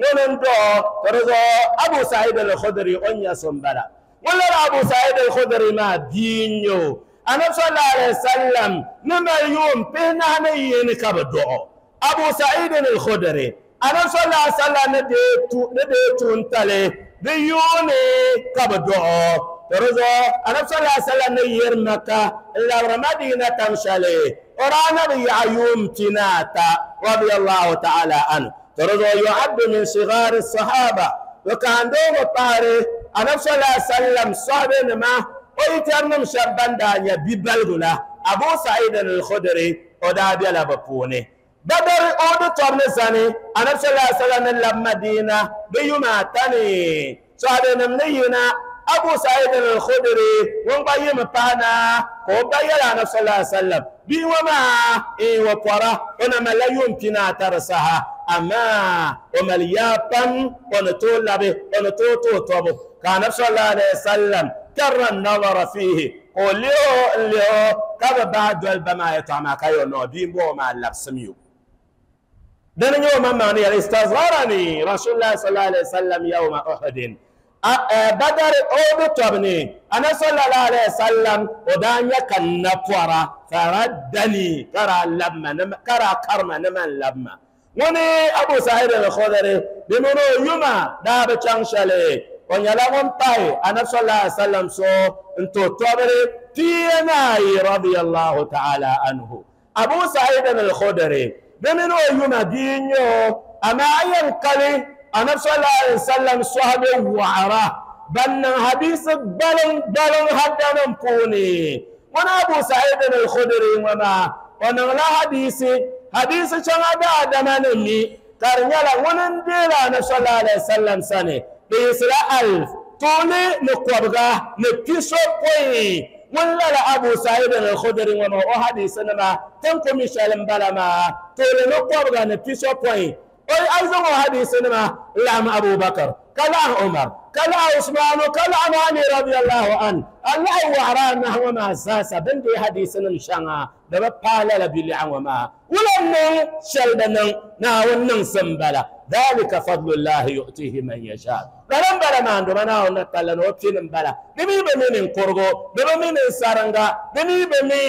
ŋuni n-dɔɣi ka di zuɣu Abu Sa'id al-Khudri o ni nyɛ so m-bala ŋun lala Abu Sa'id al-Khudri maa bia n-nyɛ o Anabi sallallahu alaihi wasallam ni mali yuun pihinahi ni yini ka bi dɔɣi Abu Sa'id al-Khudri Anabi sallallahu alaihi wasallam ni deei tuuntali di yuuni ka bi dɔɣi to di zuɣu Anabi sallallahu alaihi wasallam ni yiri Maka n-labiri Madina tam shɛli o daa na bi yaɣi yuun pinaata radiyallahu ta'ala anhu to di zuɣu yu'addu min sigari sahaba to kaandoo ŋɔ pahari Anabi sallallahu alaihi wasallam sɔhibenima o yitɛrinim shɛba ban daa nyɛ bibaligu la Abu Sa'id al-Khudri o daa bela bi puuni Badr Uhud tɔbu ni zani Anabi sallallahu alaihi wasallam ni labi Madina di yuma ata ni sɔhibenim ni yina Abu Sa'id al-Khudri ŋun gba yimi pahi na ka o ba yɛli Anabi sallallahu alaihi wasallam bia ŋɔ maa n o pɔra o na malila yuun pinaata di saha amaa o mali yaa pam o ni tooi labi o ni tooi tooi tɔbu ka Anabi sallallahu alaihi wasallam karra an-nazara fihi ka o lihi o n-lihi o ka bi bahi doli ba maa yɛtɔɣa maa ka yɛ noo bia m-bɔŋɔ maa labisim yo dini nyɛ o maŋmaŋ ni yɛli istasgharani Rasulullah sallallahu alaihi wasallam yawma Uhudin Badar Uhud tɔbu ni Anabi sallallahu alaihi wasallam o daa nyɛ ka n na pɔra faraddani ka daa labima ka daa karima ni man labima ŋuni Abu Sa'id al-Khudri di mini o yuma daa bi chaŋ shɛli o nyɛla ŋun pahi Anabi sallallahu alaihi wasallam so n-to tɔbiri pia ni ayi radiyallahu ta'ala anhu Abu Sa'id al-Khudri di mini o yuma bia n-nyɛ o amaa a yɛn kali Anabi sallallahu alaihi wasallam sɔhibe waɣara ban niŋ hadisi gbaliŋ gbaliŋ haddanim puuni ŋuni Abu Sa'id al-Khudri ŋɔ maa o niŋla hadisi hadisi shɛŋa daadama ni mi ka di nyɛla ŋuni n-deeli Anabi sallallahu alaihi wasallam sani di yiɣisila alif tuuli ni kɔbiga ni pisopɔin ŋun lala Abu Sa'id al-Khudri ŋɔ maa o hadisi nima tin ku mi shɛli m-bala maa tuuli ni kɔbiga ni pisopɔin o a zaŋ o hadisi nima n-laɣim Abu Bakr ka laɣim Umar ka laɣim Usmanu ka laɣim Ali radiyallahu anhu a laɣim waɣara anahi ŋɔ maa zaasa bɛ ni deei hadisi nim shɛŋa di bi paai lala biliɛɣu ŋɔ maa wula niŋ shɛli di niŋ Naawuni niŋsim m-bala dhalika fadlullahi yu'tihi man yasha lala m-bala maa nduma Naawuni na talla ni o pini m-bala di mi bi mi ninkurigu di bi mi ninsaringa di mi bi mi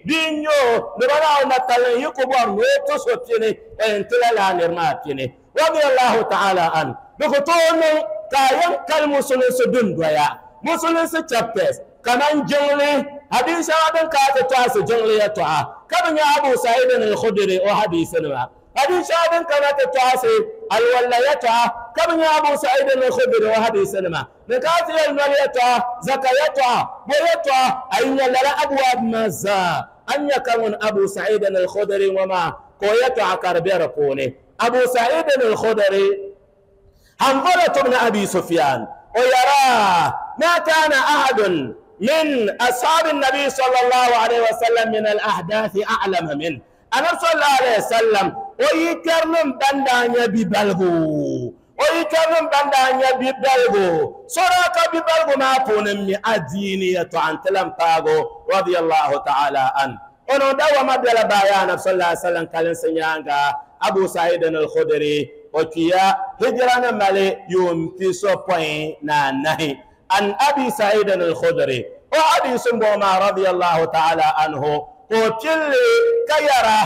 bia n-nyɛ o nduma Naawuni na talla ni yi ku bɔri ni o ti so pini o yɛn ti la laa niri maa pini radiyallahu ta'ala anhu di ku tooi niŋ ka a yɛn kali musulinsi dundoya musulinsi chapters كمان جنلي حديث هذا كات تاس جنلي يتوعى كم يا أبو سعيد الخدري وحديث ما حديث هذا كات تاس الولا يتوعى كم يا أبو سعيد الخدري وحديث ما نكات المال يتوعى زكاة يتوعى بيتوعى أين لا أبواب مزا أن يكون أبو سعيد الخدري وما كويتوعى كربير كوني أبو سعيد الخدري حنظلة بن أبي سفيان ويرى ما كان أحد من أصحاب النبي صلى الله عليه وسلم من الأحداث أعلم منه. أنا صلى الله عليه وسلم ويكرم بندان ببلغو ويكرم بندان ببلغو سراك ببلغو ما كون أدينية عن تلم تاغو رضي الله تعالى عنه. ونو دوا مدل بيان صلى الله عليه وسلم كالن سنيانغا أبو سعيد الخدري وكيا هجران مالي يوم تسو بوين نانهي عن أبي سعيد الخدري وحديث بوما رضي الله تعالى عنه قتل كيرا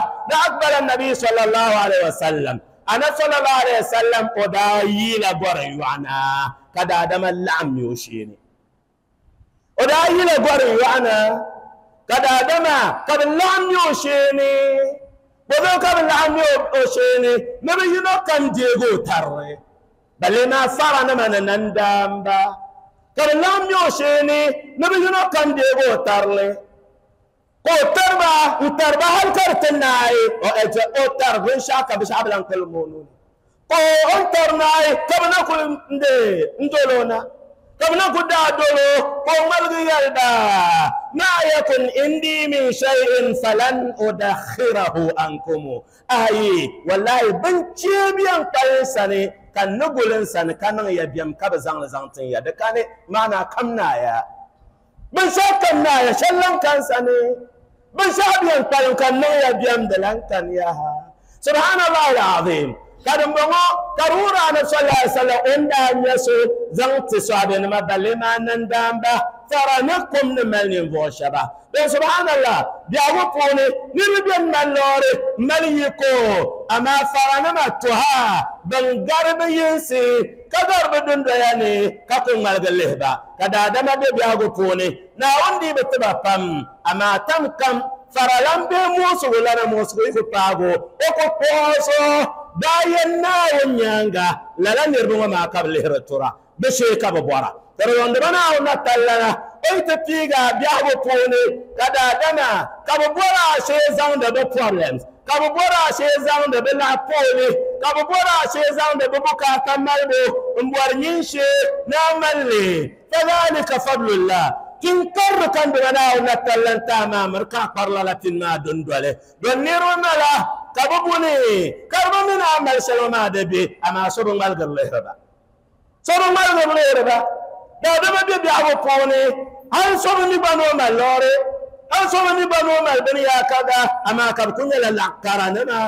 أقبل النبي صلى الله عليه وسلم أنا صلى الله عليه وسلم ودايل بريوانا كدا دم اللعم يوشيني ودايل بريوانا كدا دم قبل اللعم يوشيني وذو قبل اللعم يوشيني نبي ينقم ديغو تري بل ما صار نمنا نندم با قبل اللعم يوشيني نبي ينقم ديغو تري او تربا وتربا هل كرتناي او تربا ان شاء الله بشعب لان كل مونون او انترناي كم ناكل ندي ندولونا كم ناكل دا دولو او ملغي يلدا ما يكن عندي من شيء فلن ادخره عنكم اي والله بنتي بيان قلسني كان نقولن سن كان يبيم كبزان زانتين يا دكاني معنا كمنايا بنشاكم يا شلن كان سني بنشابيان قالوا كان يا بيام دلان كان ياها سبحان الله العظيم كان بونو كرورا انا صلى الله عليه وسلم ان دان يسو زنت سوابن ما بلما نندام با فرنكم نملين فوشبا سبحان الله بياغو بوني نربيان مالوري مليكو اما فرنما تها بنغرب ينسي كدر بدون دياني كاكو مالغ كدا دما بي بياغو بوني ناوندي بتبا بام اما تم كم فرلام بي موسو ولا موسو يكو باغو اوكو بوسو داين ناو نيانغا لا نيربو ما قبل هرتورا بشي كابورا ترى وندبنا ونتلنا ايت تيغا بياغو بوني كدا دما كابورا شي زاوند دو problems كابورا شي زاوند بلا بولي كابورا شي زاوند ببوكا تمالبو مبور نينشي نامالي فذلك فضل الله تنكر كان بنا ونتلن تمام ركا قرلتنا ما دندوله دنيرو ملا كابوني كربو من عمل سلوما دبي اما سرو مالغ الله ربا سرو مالغ الله ربا دا دما بي بياغو بوني هل سرو ني بانو مالوري هل سرو ني بانو مال بني يا كذا اما كبكون لا كارانما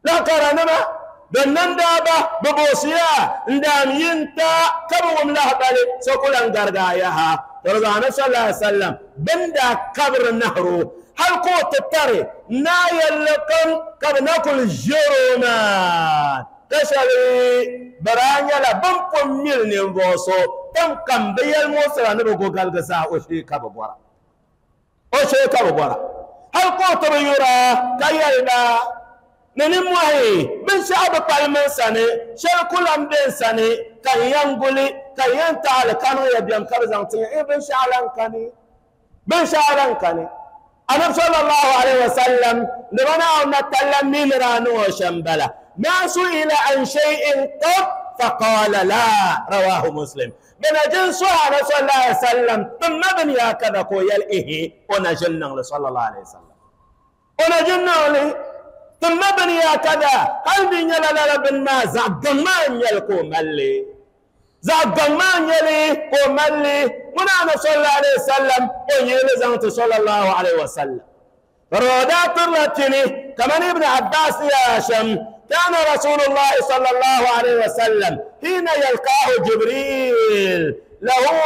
لا كارانما دنن دابا ببوسيا ندام ينتا كبوم له بالي سوكولان غرغاياها ترضى صلى الله عليه وسلم بندا كبر النهر هل قوت التري نايل لكم كبناكل جروما تشالي برانيا لا بمكم ميل نيمبوسو تم كم بيال موسى نبغو غالغسا وشي كببورا وشي كببورا هل قوت بيورا كايلدا ننموهي من شعب بالمن سنة شل كل أمدين سنة كان ينقولي كان ينتعل كانوا يبيم كبزان تين إيه بن شعلان كاني بن شعلان كاني أنا صلى الله عليه وسلم لمن نتكلم من رانو شمبلا ما سئل عن شيء قط فقال لا رواه مسلم من جنس على صلى الله عليه وسلم ثم بن يا كذا كويل إيه ونجلنا صلى الله عليه وسلم ونجلنا ثم بني كذا قلبي يلا لا بن ما زعجمان يلكو ملي زعجمان يلي كو ملي من أنا صلى الله عليه وسلم ويلي زانت صلى الله عليه وسلم رودات الرتني كمان ابن عباس يا هاشم كان رسول الله صلى الله عليه وسلم حين يلقاه جبريل لهو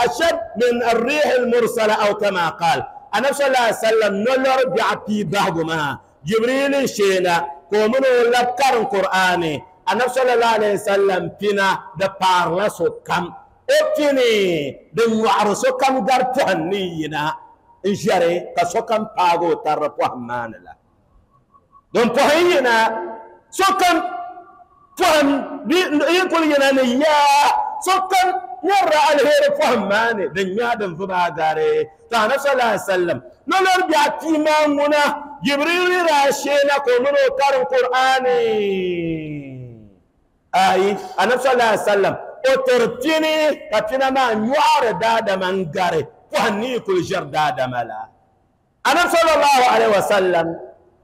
أشد من الريح المرسلة أو كما قال أنا صلى الله عليه وسلم نلر بعبي بعضما جبريل شينا كومنو لبكر القرآن النبي صلى الله عليه وسلم فينا ده بارلا سو كم O pini din nyɔɣiri sokam gari pɔhim ni yina n ʒɛri ka sokam paagi o tarili pɔhim maa ni la. Din pɔhim yina sokam pɔhim yi kuli yina ni yaa sokam nyɛrila alheri pɔhim maa ni din nyɛ din vuba gari. To Anabi sallallahu alaihi wasallam nolori biɛɣu pii maa ŋuna Jibril daa sheena ka o mini o karim Qur'ani. Ayi, Anabi sallallahu alaihi wasallam o tiri pini ka pina maa nyɔɣiri daadama n gari pɔhim ni yi kuli ʒiri daadama la. Anabi sallallahu alaihi wasallam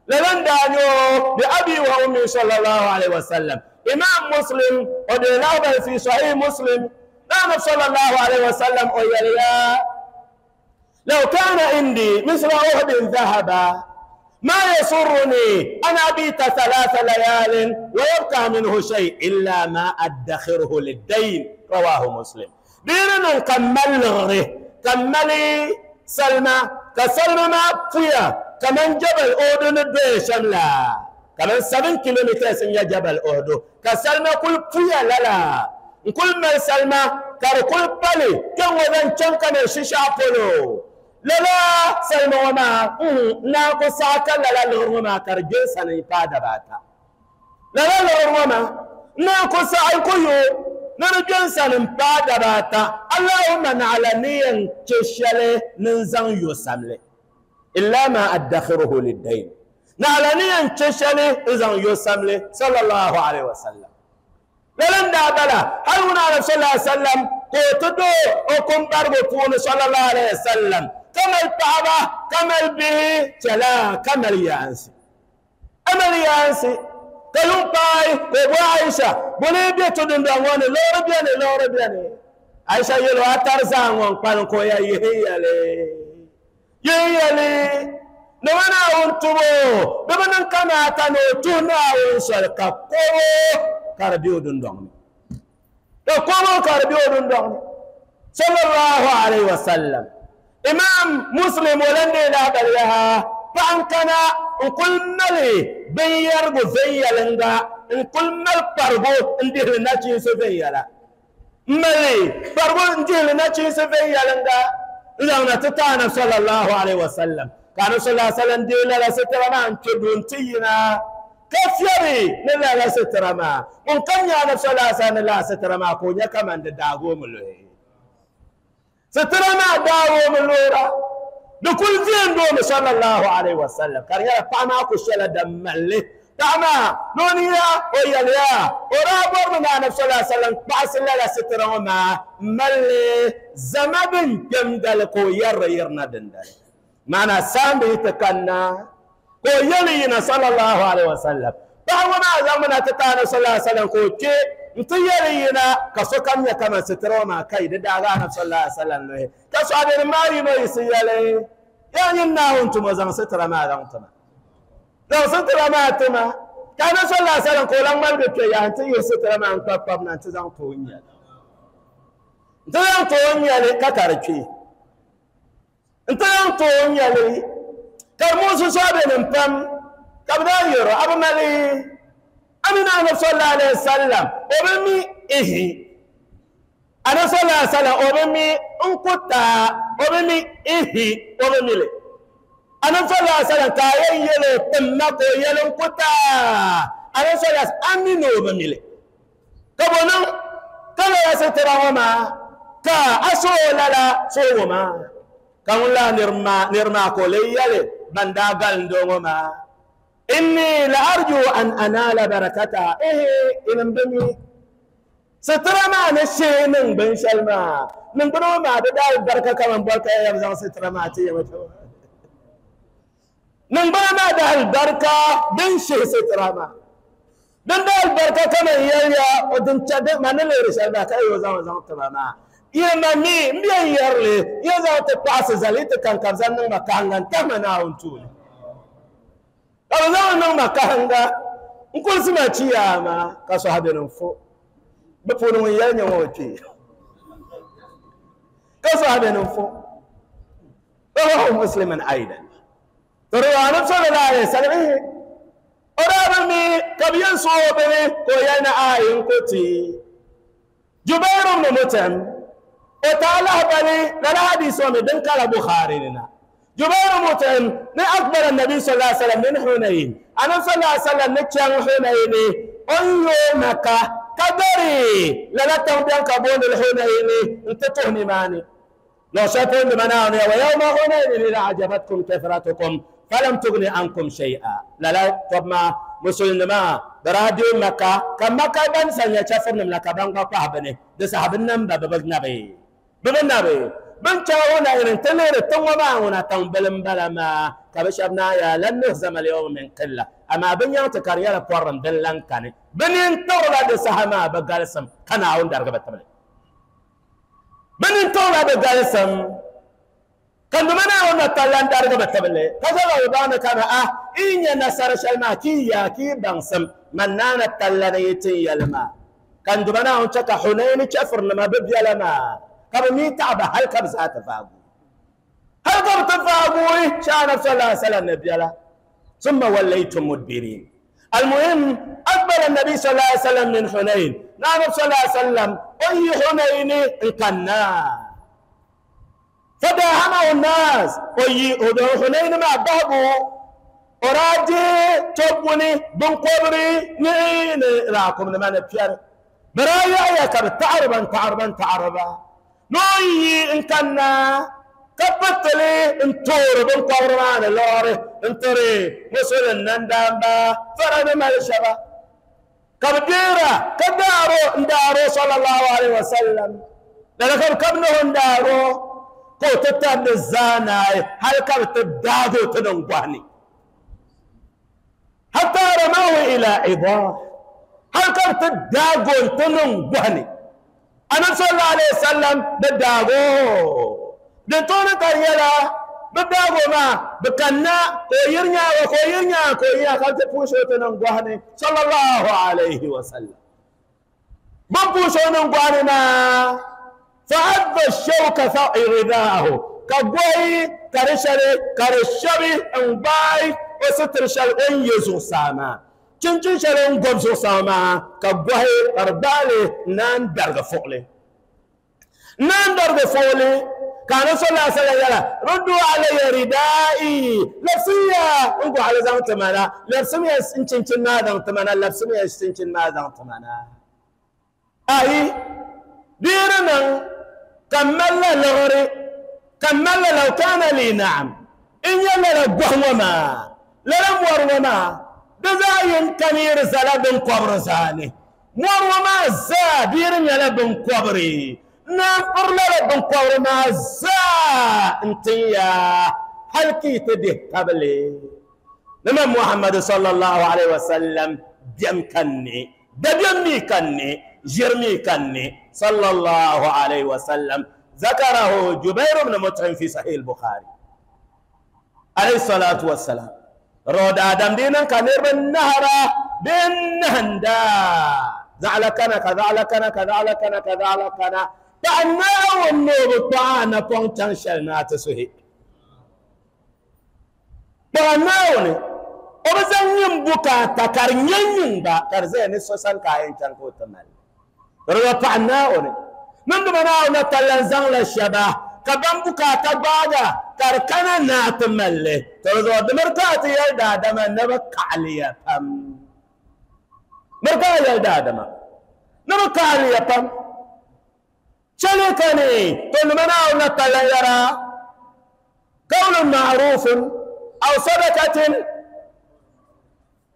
lala n daa nyɛ o bi abi wa ummi sallallahu alaihi wasallam. Imam Muslim o deei lahibali fi Sahih Muslim na Anabi sallallahu alaihi wasallam o yɛliya: لو كان عندي مثل أحد ذهبا ما يسرني أن أبيت ثلاث ليال ويبقى منه شيء إلا ما أدخره للدين. رواه مسلم. ديرنا كمل غره كملي سلمى كسلمى ما فيا كمن جبل أودن الدشملا كمن سبعة كيلومتر سنيا جبل أودو كسلمى كل فيا لا كل من سلمى كار كل بالي كم وذن كم كان شيشة بولو لا سلمى وما ناكو ساكا لا لا لغرما كرجل سنة يفادة باتا لا لا لغرما ناكو ساكو يو نرجل سنة يفادة باتا اللهم نعلنيا تشالي ننزان يساملي إلا ما أدخره للدين نعلنيا تشالي ننزان يساملي صلى الله عليه وسلم. لن دابلا هل هنا صلى الله عليه وسلم قوتدو وكم برغو فون صلى الله عليه وسلم كما الطعبة كما البه تلا كما اليانسي أما اليانسي كلهم باي كوبو عائشة بولي بيتو دندواني لورا بياني لورا بياني عائشة يلو أترزان وانقالن كويا يهيالي يهيالي نوانا وانتبو بمنن كما تنو تونا وانسالك كوبو كاربيو دندواني كوبو كاربيو دندواني صلى الله عليه وسلم. إمام مسلم ولندي لا بلها فأنكنا نقول ملي بيرغو فيالنغا نقول مل برغو ندير ناتشي سفيالا ملي برغو ندير ناتشي سفيالنغا لو نتتانا صلى الله عليه وسلم كان صلى الله عليه وسلم دي لا ستر ما انتبنتينا كفيري لا لا ستر ما ممكن يا نفس الله صلى الله عليه وسلم لا ستر ما كونيا كمان داغو ملوي ستر ما داغو ملورا لكل زين دوم صلى الله عليه وسلم كريا فما كشلا دملي تعما نونيا ويليا ورابر من النبي صلى الله عليه وسلم بعث لا ستر ما ملي زمبن جمدل كو ير يرنا دندل معنا سامي تكنا كو يلينا صلى الله عليه وسلم فهو ما زمنا تتانا صلى الله عليه وسلم كو كي انتيرينا كسوكم يا كما ستر ما كاي دغا النبي صلى الله عليه وسلم لوي كسو ما ينو يسيالي يعني انتم زمان ستر ما زمان لو ستر ما تما كان صلى الله عليه وسلم كولان مال بك يا انت يستر ما انت باب انت زان تونيا انت زان تونيا لي ككارتي انت زان تونيا لي كرموس صابن بام كبدا يرو ابو مالي امين انا صلى الله عليه وسلم وبمي ايه انا صلى الله عليه وسلم وبمي انكوتا وبمي ايه وبمي لي أنا صلى الله عليه وسلم كاين يلو تمكو يلو كتا أنا صلى الله عليه وسلم أمينو بميلي كبونا كلا يسترى وما كا أسو لا سو وما كون لا نرما نرما كولي يلي بندا غالندو وما إني لأرجو أن أنال بركتها إيه إن بمي سترى ما نشي من بن شلما من بنو ما بدأ البركة كمان بركة يا سترى ما تيجي من بنا ما ده البركة بن شيء ستراما بن ده البركة كما يليا ودن تشد ما نلي رسالة ما كأي وزان وزان تماما يا مامي مي يرلي يا زان تباس زليت كان كان ما كان تمنا ونتولي كان ما كان نقول سمع يا ما كصحابي نفو بفورو يا نيوتي كصحابي نفو رواه مسلما أيضا ترى أنا صلى الله عليه وسلم أرامي كبيان صوبني كويانا آين كوتي جبير بن مطعم وتعالى بني لا حديث من قال بخاري لنا جبير مطعم أكبر النبي صلى الله عليه وسلم من حنين أنا صلى الله عليه وسلم نتشان حنين أيو مكة كدري لا تنبيان كبون الحنين انت تهني ماني لو شافون بمناوني ويوم حنين إذا عجبتكم كثرتكم فلم تغني عنكم شيئا لا لا طب ما مسلم ما براديو مكة كم مكة بن سنة شافون من لكبان قطع بني ده صاحب النبي ببنبي ببنبي بن تاونا إن تلير تنوما ونا تنبلم بلما كبشبنا يا لن نهزم اليوم من قلة أما بن ينتكر يلا قرن دلن كان بن ينتورا دسهما بقالسم كان عون درجة تملي بن ينتورا بقالسم كان بمنا عون تلان درجة تملي كذا وبانا كان آه إن ينصر شلما كي يا كي بنسم من نانا تلان يتي يلما كان بمنا عون تك حنين شفر لما ببيا لما كم ميت عبا هل كم ساعة تفاقوا هل كم تفاقوا شاء نفس الله سلام نبي الله ثم وليتم مدبرين. المهم أقبل النبي صلى الله عليه وسلم من حنين نعم صلى الله عليه وسلم أي حنين انكنا فداهمه الناس أي حنين ما بابو أراجي تبوني بن قبري نين راكم لما نبيار برايا يا كب تعربا تعربا تعربا نوي إن كنا كبتلي انتور بن قبرمان لوري انتري وصل النندامبا فرد مالشبا كبديرة كدارو اندارو صلى الله عليه وسلم لكن كبنه اندارو كو تتاب الزاناي هل كبت الدادو تنقواني حتى رموه إلى عظام هل كبت الدادو تنقواني أنا صلى الله عليه وسلم بداغو دتون كريلا بداغو ما بكنا كويرنا وكويرنا كويا خلت بوشو تنغواني صلى الله عليه وسلم بوشو نغواني ما فعض الشوك رداءه كغوي كرشري كرشبي انباي وستر شل ان يزو ساما چنچن شل ان غبزو ساما كغوي اربالي نان درغ فولي نان درغ فولي كان صلى الله عليه وسلم ردوا علي ردائي لبسيا انقو على زمان تمانا لبسميا انچنچن ما زمان تمانا لبسميا انچنچن ما زمان تمانا اي ديرنا كمل لغري كمل لو كان لي نعم ان يلا لغوما ما للم ورما دزاين كمير زلا بن قبر زاني ورما زا ديرن يلا بن قبري نافر لا بن قبر ما زا انت يا هل كي تده قبلي لما محمد صلى الله عليه وسلم دم كني دمي كني جرمي كني صلى الله عليه وسلم ذكره جبير بن مطعم في صحيح البخاري عليه الصلاة والسلام. رود آدم دينا كنير بالنهر بالنهندا زعل كنا كذا كنا كذا كنا كذا كنا فأنا والنور طعنا بونتان شلنا تسهي فأنا وني وبزن يمبكا تكرنين با كرزين سوسن كاين تنكو تمال رود فأنا وني من دمنا ونتلنزان للشبه كبمبكا تبادا كركنا ناتملي ترزو دمركاتي يا دادما نبكى عليا فم مركا يا دادما نبكى عليا فم شلكني تلمنا ونتليرا قول معروف أو صدقة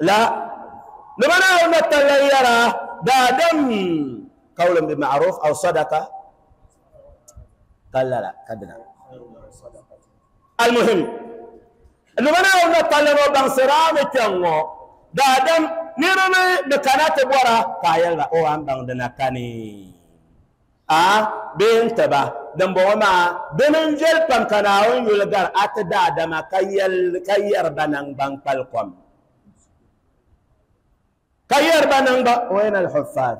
لا نمنا ونتليرا دادم قول بمعروف أو صدقة قال لا لا كدنا. المهم نمنا ونتليرا بانسرام تنو دادم نيرمي بكانات بورا كايل او ان بان كاني ا بين تبا دمبوما بننجل بان كناون يلغار ات دادما كايل كاير بنان بان بالكم كاير بنان با وين الحفاظ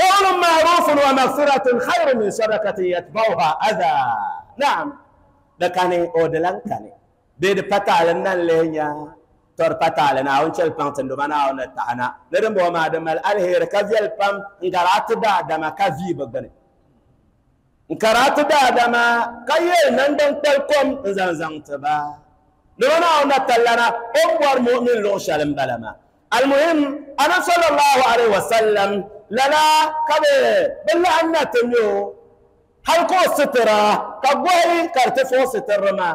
قول معروف ومغفرة خير من صدقة يتبعها أذى. نعم لكاني أودلان كاني بيد بتاع لنا لينيا Tor patale na on chel pang tendo mana on tahana ne den bo ma de mal alher ka viel pam ngaratu da dama ka vi bagbane ngaratu da dama ka ye nan dan kpal kom nzan zang taba ne wana on tallana on war mu'min lo shalim balama المهم انا صلى الله عليه وسلم للا كبه بالله ان تنيو هل كو سترا كغوي كارتفو سترما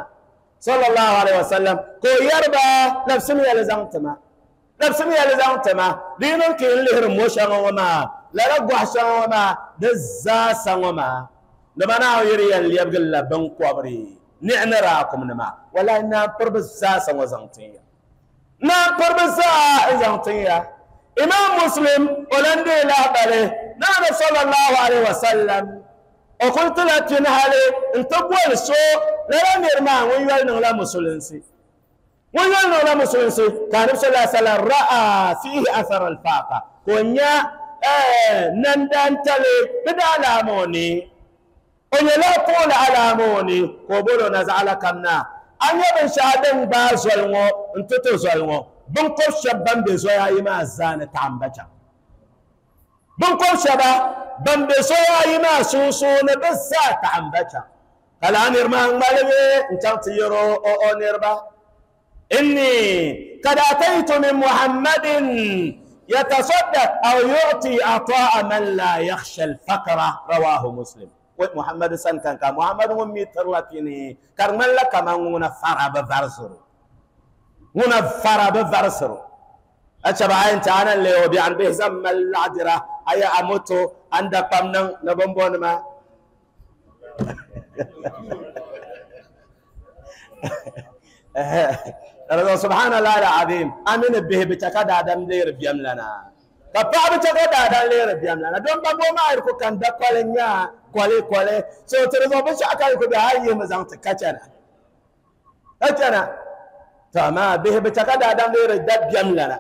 صلى الله عليه وسلم كو يربا نفسمي لزانتما نفسمي لزانتما دينن كين لهر موشان وما لا لا غوشان وما دزاسان وما لما يري اللي يبغل بن كوبري نعم راكم نما ولا ان بربزاسان وزانتيا نا بربزا زانتيا امام مسلم ولندي لا بله نعم صلى الله عليه وسلم وقلت لا تنهالي انت بول سو لا نيرما ويوال نغلا مسلمسي ويوال نغلا مسلمسي كان صلى الله عليه وسلم راى فيه اثر الفاقه كونيا ايه نندان تلي بدا لاموني ونيا طول علاموني كوبولو نزعل كمنا ان يبن شادن بازولمو انت تزولمو بنكو شبان بزويا يما زان تامبجا بنكو شبا بمبي سوى يما سوسو نبزا تعمبتا قال أنا رمان مالبي انت تيرو او او نربا إني قد أتيت من محمد يتصدق أو يعطي عطاء من لا يخشى الفقر رواه مسلم. محمد سن كان كان محمد ممي ترلاتيني كرمال لك ما nguna فرا بفرسرو nguna فرا بفرسرو أتشبع أنت أنا اللي هو بيعن به زم العذرة أي أموتو عند قمنا نبمبون ما سبحان الله العظيم أمين به بتكاد آدم لير بيم لنا كبا بتكاد آدم لير بيم لنا دون بابو ما يركو كان دكالنيا كولي كولي سو ترى بس أكل كبهاي مزان تكاتنا كاتنا تمام به بتكاد آدم لير دب بيم لنا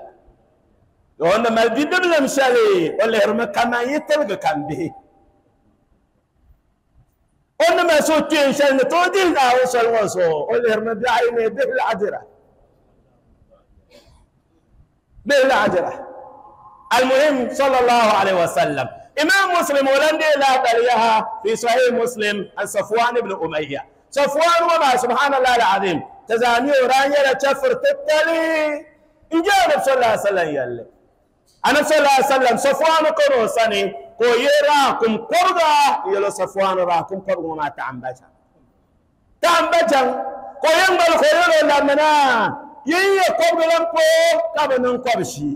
وانا ما بيدب لمشالي ولا يرمى كما يتلقى كان به وانا ما سوتي ان شاء الله تودي لا وصل وصل ولا يرمى بعيني به العذرة به العذرة. المهم صلى الله عليه وسلم إمام مسلم ولندي لا بليها في صحيح مسلم عن صفوان بن أمية صفوان وما سبحان الله العظيم تزاني ورانيا لتشفر تتلي إن جاء النبي صلى الله عليه وسلم يلي أنا صلى الله عليه وسلم صفوان كروساني كو يراكم قرغا يلو صفوان راكم قرغا ما تعمبجا تعمبجا كو ينبل كو يلو لمنا يي قرغا لنكو كابنن قبشي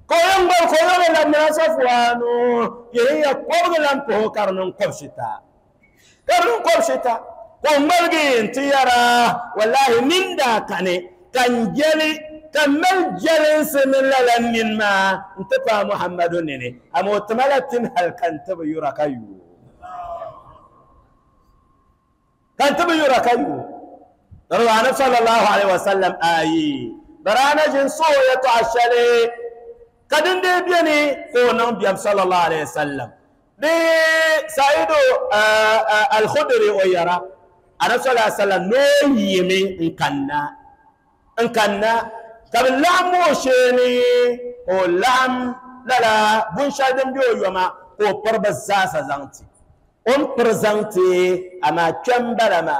كو ينبل كو يلو لمنا صفوان يي قرغا لنكو كارنن قبشتا كارنن قبشتا كو ملغي انتيارا والله من دا كاني كان جلي كمل جلس من لمن ما انتفى محمد نني أما تملتن هل كنت بيركيو كنت بيركيو رضوان صلى الله عليه وسلم آي برانا جنسو يتعشلي قدن دي بيني كونم بيام صلى الله عليه وسلم دي سعيد الخدري ويرى أنا صلى الله عليه وسلم نو يمي إن إن كان كابن لعم وشيني أو لعم لا لا بنشادم بيو يوما أو بربزاسا زانتي أم برزانتي أما كمبلما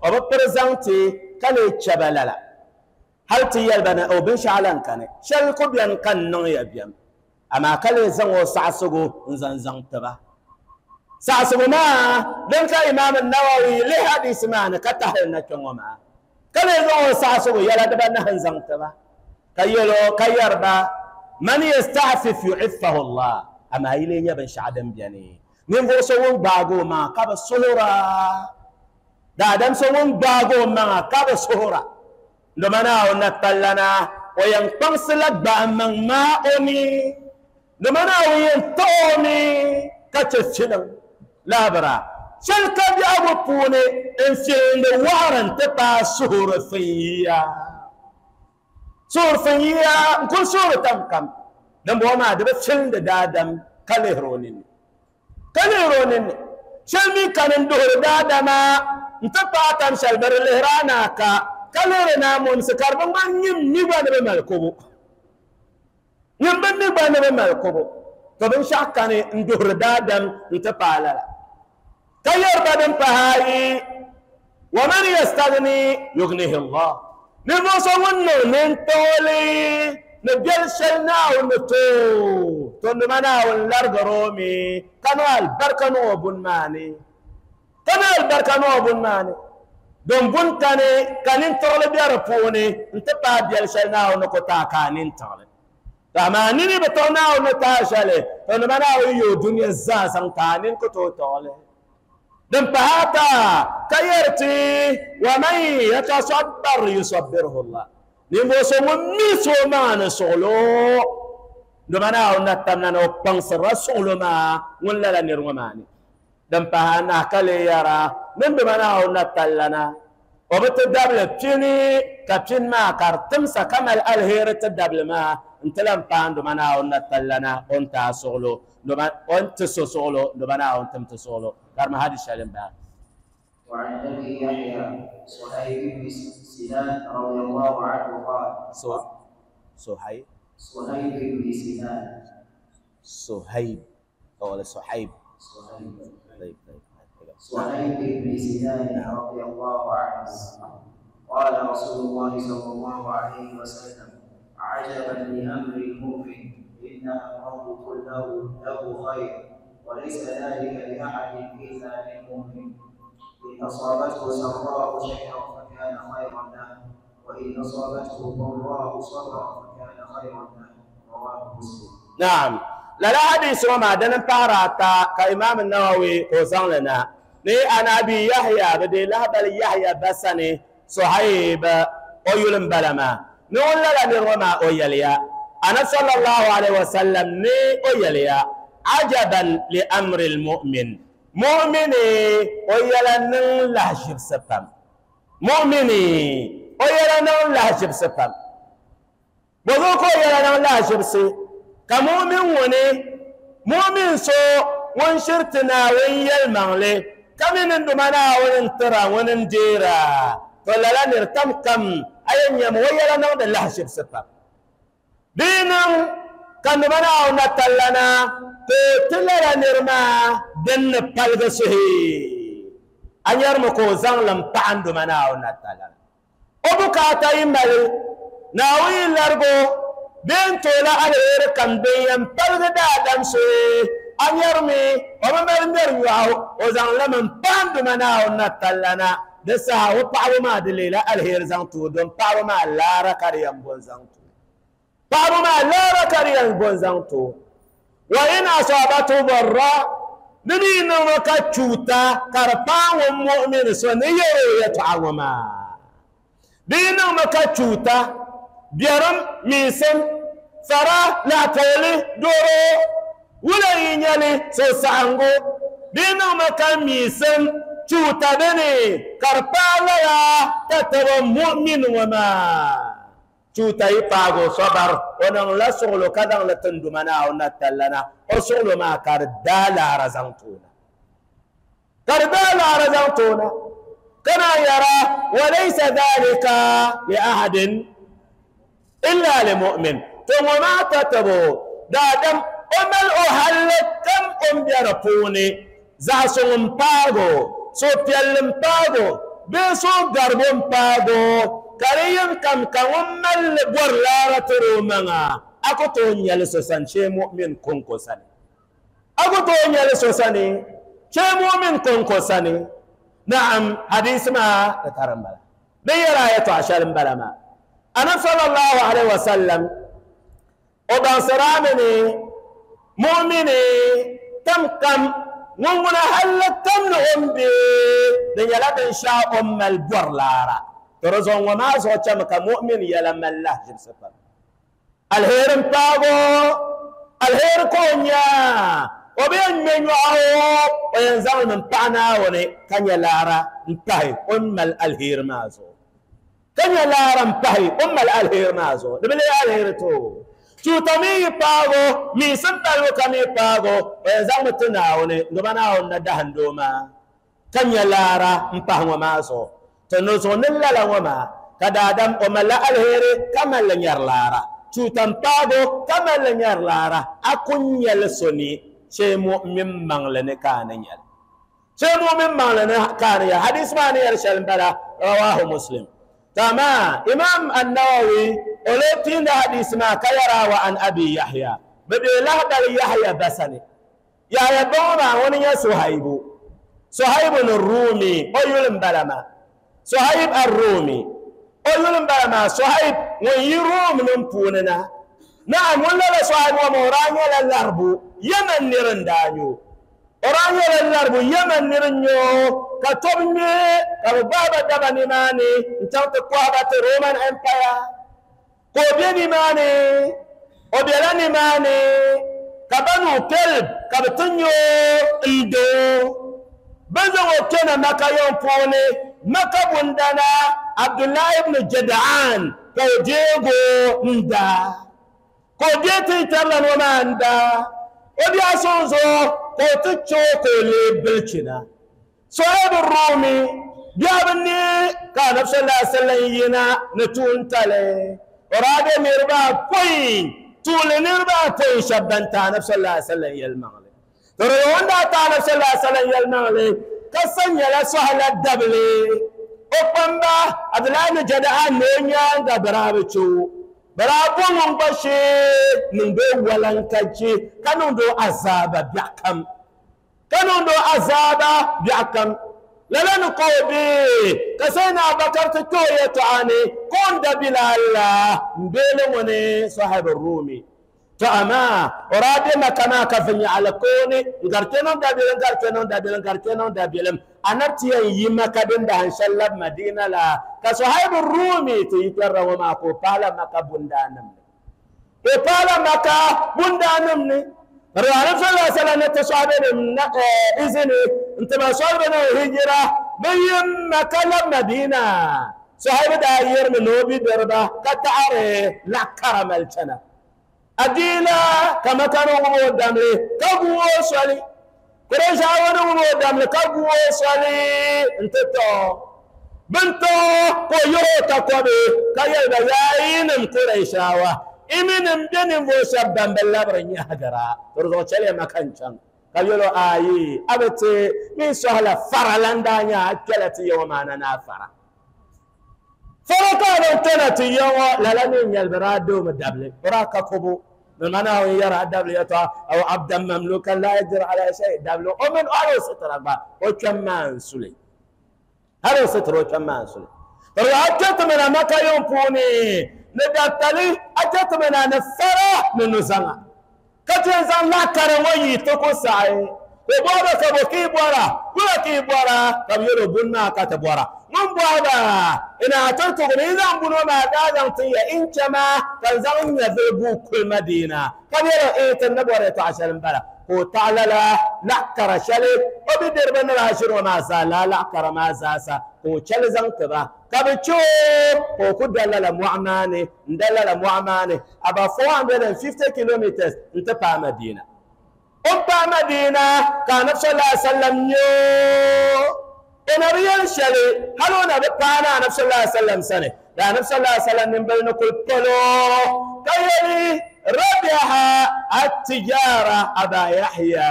أو برزانتي كالي تشبلالا هل تيال بنا أو بنشعلان كان شلكو بيان كان نغيا بيان أما كالي زنغو سعسغو نزان زانتبا سعسغو ما دنك إمام النووي لحديث معنا كتحلنا كنغو كالي زنغو سعسغو يلا دبا نهن زانتبا كيلو كيربا من يستعفف يعفه الله أما إلي يبن شعدم بياني نينفو سوون باغو ما كاب سهورا دا دم سوون باغو ما كاب سهورا لمنا ونتلنا وينقص لك بأمن ما أمي لمنا وينتومي كتشفشنا لا برا شلك بأبو بوني انسين وارن تبا سهور فيا سور فيا كل سور تم كم دم بوما دب شلن دادم كالهرونين كالهرونين شلمي كان ندور دادما انتبا تم شل بر الهرانا كا Ka lihiri naa mumsi ka di bi ŋmani nyim mi gba ni bi mali kobo. Nyim bi mi gba ni bi mali kobo. To binshaɣu kani n duhiri daadam n-ti paai lala. Ka yɛri ba din pahi ayi, wa man yastaghni yughnihi Allah. Ninvuɣu so ŋun niŋ nintooli ni biɛli shɛli Naawuni ni tooi, to nima Naawuni larigiri o mi ka niŋ alibarika niŋ o buni maa ni. Ka niŋ alibarika niŋ o buni maa ni. Din buni kani ka nintiɣili be di puuni n-ti paai biɛli shɛli Naawuni ni ku taai ka a nintiɣili. To amaa nini bi tiɣi Naawuni ni taai shɛli, to nima Naawuni yooi dunia zaa zaŋ taai nini ku tooi tiɣili. Din pahi ata ka yɛri ti wa man yatasabbar yusabbirhu Allah. Ninvuɣu so ŋun milisi o maŋa ni suɣulo, nima Naawuni na tamna ni o kpaŋsirila suɣulo maa ŋun lala niri ŋɔ maa ni. Din pahi anahi ka lee yɛra ni nima Naawuni na tallana o bi ti dabili pini ka pini maa ka di timsa ka mali aliheri ti dabili maa n-ti lan paai nima Naawuni na tallana o ni ti a suɣulo, o ni ti so suɣulo, nima Naawuni tim ti suɣulo. Karima hadis shɛli m-bala. وعن أبي يحيى صهيب بن سنان رضي الله عنه قال صهيب صهيب بن سنان صهيب ولا صهيب صهيب طيب طيب صهيب بن سنان رضي الله عنه قال رسول الله صلى الله عليه وسلم: عجبا لأمر المؤمن، إن أمره كله له خير، وليس ذلك لأحد إلا للمؤمن. إن أصابته سراء شكر فكان خيرا له، وإن أصابته ضراء صبر فكان خيرا له. رواه مسلم. نعم. لا لا حديث وما دنا باراتا كإمام النووي وزن لنا ني أنا أبي يحيى بدي لهبل يحيى بسني صهيب أيلم بلما نقول لا نرمى أيليا أنا صلى الله عليه وسلم ني أيليا عجبا لأمر المؤمن. مؤمني أيلا نن لهجب سبام. مؤمني أيلا نن لهجب سبام. بذوك أيلا نن لهجب سي كمؤمن وني مؤمن سو ونشرتنا ويل مغلي كمن اندمنا وننترى وننجيرا فلا لا نرتم كم أين يم ويلا نن لهجب سبام. دينا كان منا ونتلنا تلنا نرما دن بالغسه أن يرمكو زغلم بعند منا ونتلنا أبوكاتا يمال ناوي لرغو بين تولا على كم بين بالغدا دمسه أن يرمي وما مرمر ياو وزغلم بعند منا ونتلنا دسها وبعو ما دليل الهير زغتو دون بعو ما لا ركريم بون زغتو بعو ما لا ركريم بون زغتو. وإن أصابته ضراء نبي وكتشوتا كربان ومؤمن سنية يتعوما دين وكتشوتا بيرم ميسم فرا لا تولي دورو ولا ينالي سوسانغو دين وكميسم تشوتا بني كربان لا تتبع مؤمن وما cuta yi paago sabar o niŋ la suɣulo ka zaŋ li tinduma Naawuni na tallana o suɣulo maa ka di daa laara zaŋ toona ka di daa laara zaŋ toona kana yɛra walaysa dhalika li ahadin illa li mu'min. To ŋɔ maa tatabo daadam o mali o halli kam o ni be di puuni zaɣ suŋ n paago suhupiɛlli n paago bee suhugarigu n paago ka di yɛn kam ka ŋun mali bɔri laara tiri o maŋa a ku tooi nyɛli so sani shee mu'min konko sani a ku tooi nyɛli so sani shee mu'min konko sani. Naam, hadisi maa di tari m-bala din yɛra yɛltɔɣa shɛli m-bala maa. Anabi sallallahu alaihi wasallam o baŋsirami ni mu'mini tam kam ŋun ŋuna halli kam ni o ni be di nyɛla binshɛɣu o ni mali bɔri laara. Tɔrɔ ŋɔ maa zuɣu chɛmi ka mu'min yɛla mali lahajibsi pam. Alheri n paago alheri ka o nya o bi yɛn ŋmɛ nyɔɣu o yɛn zaŋlimi n paɣa Naawuni ka nyɛ laara n pahi o ni mali alheri maa zuɣu ka nyɛ laara n pahi o ni mali alheri maa zuɣu di bi lee alheri to tuuta mi yi paago miisim balibu ka mi paago o yɛn zaŋmi ti Naawuni ndoba Naawuni na dahindoo maa ka nyɛ laara n pahi ŋɔ maa zuɣu. To no zuɣu ni lala ŋɔ maa Ka daadam o mali alheri ka mali nyɛri laara tuutan paago ka mali nyɛri laara a ku nyɛli so ni shee mu'min maŋli ni ka a ni nyɛli shee mu'min maŋli ni ka a ni nyɛli hadis maa ni yɛli shɛli m-bala rawahu Muslim. Tama Imam An-Nawawi o lee piindi hadis maa ka yɛra wa an Abi Yahya bɛ bee lahabali Yahya basani Yahya baŋɔ maa ŋuni nyɛ Suhaibu Suhaibu ni Rumi o yuli m-bala maa Suhaib ar-Rumi o yuli m-bala maa Suhaib ŋun yi Rum nim puuni na naam ŋun lala Suhaib ŋɔ maa o daa nyɛla laribu Yemen niri n-daa nyɛ o o daa nyɛla laribu Yemen niri n-nyɛ o ka tɔbu ŋme ka bɛ gbahi ba daba nimaani n-chaŋ ti kɔhi ba ti Roman Empire ka o be nimaani o bela nimaani ka Banu Kelb ka bɛ ti nyɛ o n-do bɛ zaŋ o kpɛna Maka yiŋ puuni Maka bundana Abdullah ibn Jada'an ka o deego n-daa ka o deei tiŋkpɛrila ŋɔ maa n-daa o biɛhi suŋ zuɣu ka o ti che o ka o leei bilichina Suhaib Rumi biɛhi bi neei ka Anabi sallallahu alaihi wasallam yina ni tuuntali o daa be niriba apɔin tuuli niriba apɔin shɛba ban ti Anabi sallallahu alaihi wasallam yɛlimaŋli to di ŋun daa ti Anabi sallallahu alaihi wasallam yɛlimaŋli ka sa nyɛla sɔhila dabili o kpamba Abdullahi ibn Jada'an ni o nyaaŋa bɛ daa bi che o bɛ daa bo ŋun gba shee niŋdi o walankachi ka niŋdi o azaaba biɛɣu kam ka niŋdi o azaaba biɛɣu kam lala ni ka o be ka Sayyidina Abubakar ti kpe o yɛtɔɣa ni ka o ni da Bilal la m-beeli ŋuni Suhaib Rumi to amaa o daa be Maka maa ka viɛnyɛɣili kooni n-gari kpe niŋ dabilim n-gari kpe niŋ dabilim n-gari kpe niŋ dabilim Anabi ti yɛn yi Maka din dahin shɛli labi Madina la ka Suhaib Rumi ti yi kpɛrila ŋɔ maa ka o paala Maka bundaanim ni ka o paala Maka bundaanim ni ka di Anabi sallallahu alaihi wasallam ni ti sɔhibenim izini n-ti ba sɔhibenim hijira bɛ yi Maka labi Madina Suhaib daa yirimi ni o bidiriba ka taɣari laɣ kara mali chana adiila ka Maka ni ŋub o damli ka gu o soli Qurayshawa ni ŋub o damli ka gu o soli n-ti tɔ bɛ ni tɔ ka o yihi o takɔbi ka yɛli ba yaa yinim Qurayshawa iminim be ninvuɣ shɛba ban bi labiri nyɛhigira to di zuɣu chɛliya Maka n-chaŋ ka yɛl o ayi a bi ti min sɔhila fara la n-daa nyɛ a kpɛla ti ya ŋɔ maa na ni a fara fara ka a niŋ kpɛna ti ya ŋɔ lala mi n-nyɛli bɛ daa doomi dabili o daa ka kobo bɛ mana o yɛra a dabili yɛtɔɣa aw abdan mamlukan la yaqdiru ala shay dabili o mini hali o sitira gba o kpɛm maa n-suli hali o sitira o kpɛm maa n-suli to di a kpɛ ti mina Maka yiŋ puuni ni dabtali a kpɛ ti mina ni fara ni nuzaŋa ka ti yɛn zaŋ laɣ kara ŋɔ yi ti ku saɣi o bɔriba ka bo ka yi bɔra wula ka yi bɔra ka bɛ yɛl o buni maa ka ti bɔra ŋun bɔriba ina ti tuɣi ni yi zaŋ buni ŋɔ maa daa zaŋ tin ya n chɛ maa ka n zaŋ n nyɛvili guui kuli Madina ka bɛ yɛl o ee ti ni bɔri yɛtɔɣa shɛli m-bala ka o taɣi lala laɣ kara shɛli o bidiriba ni daa ʒiri ŋɔ maa zaa lala laɣ kara maa zaasa ka o chɛli zaŋ ti ba ka bɛ che o ka o ku da lala mɔɣu maa ni n-da lala mɔɣu maa ni about four hundred and fifty kilometers n-ti paai Madina o paai Madina ka Anabi sallallahu alaihi wasallam nyɛ o na bi yɛli shɛli hali o na bi paai na Anabi sallallahu alaihi wasallam sani da Anabi sallallahu alaihi wasallam nimbili ni kuli palo ka yɛli rabiha at-tijara Aba Yahya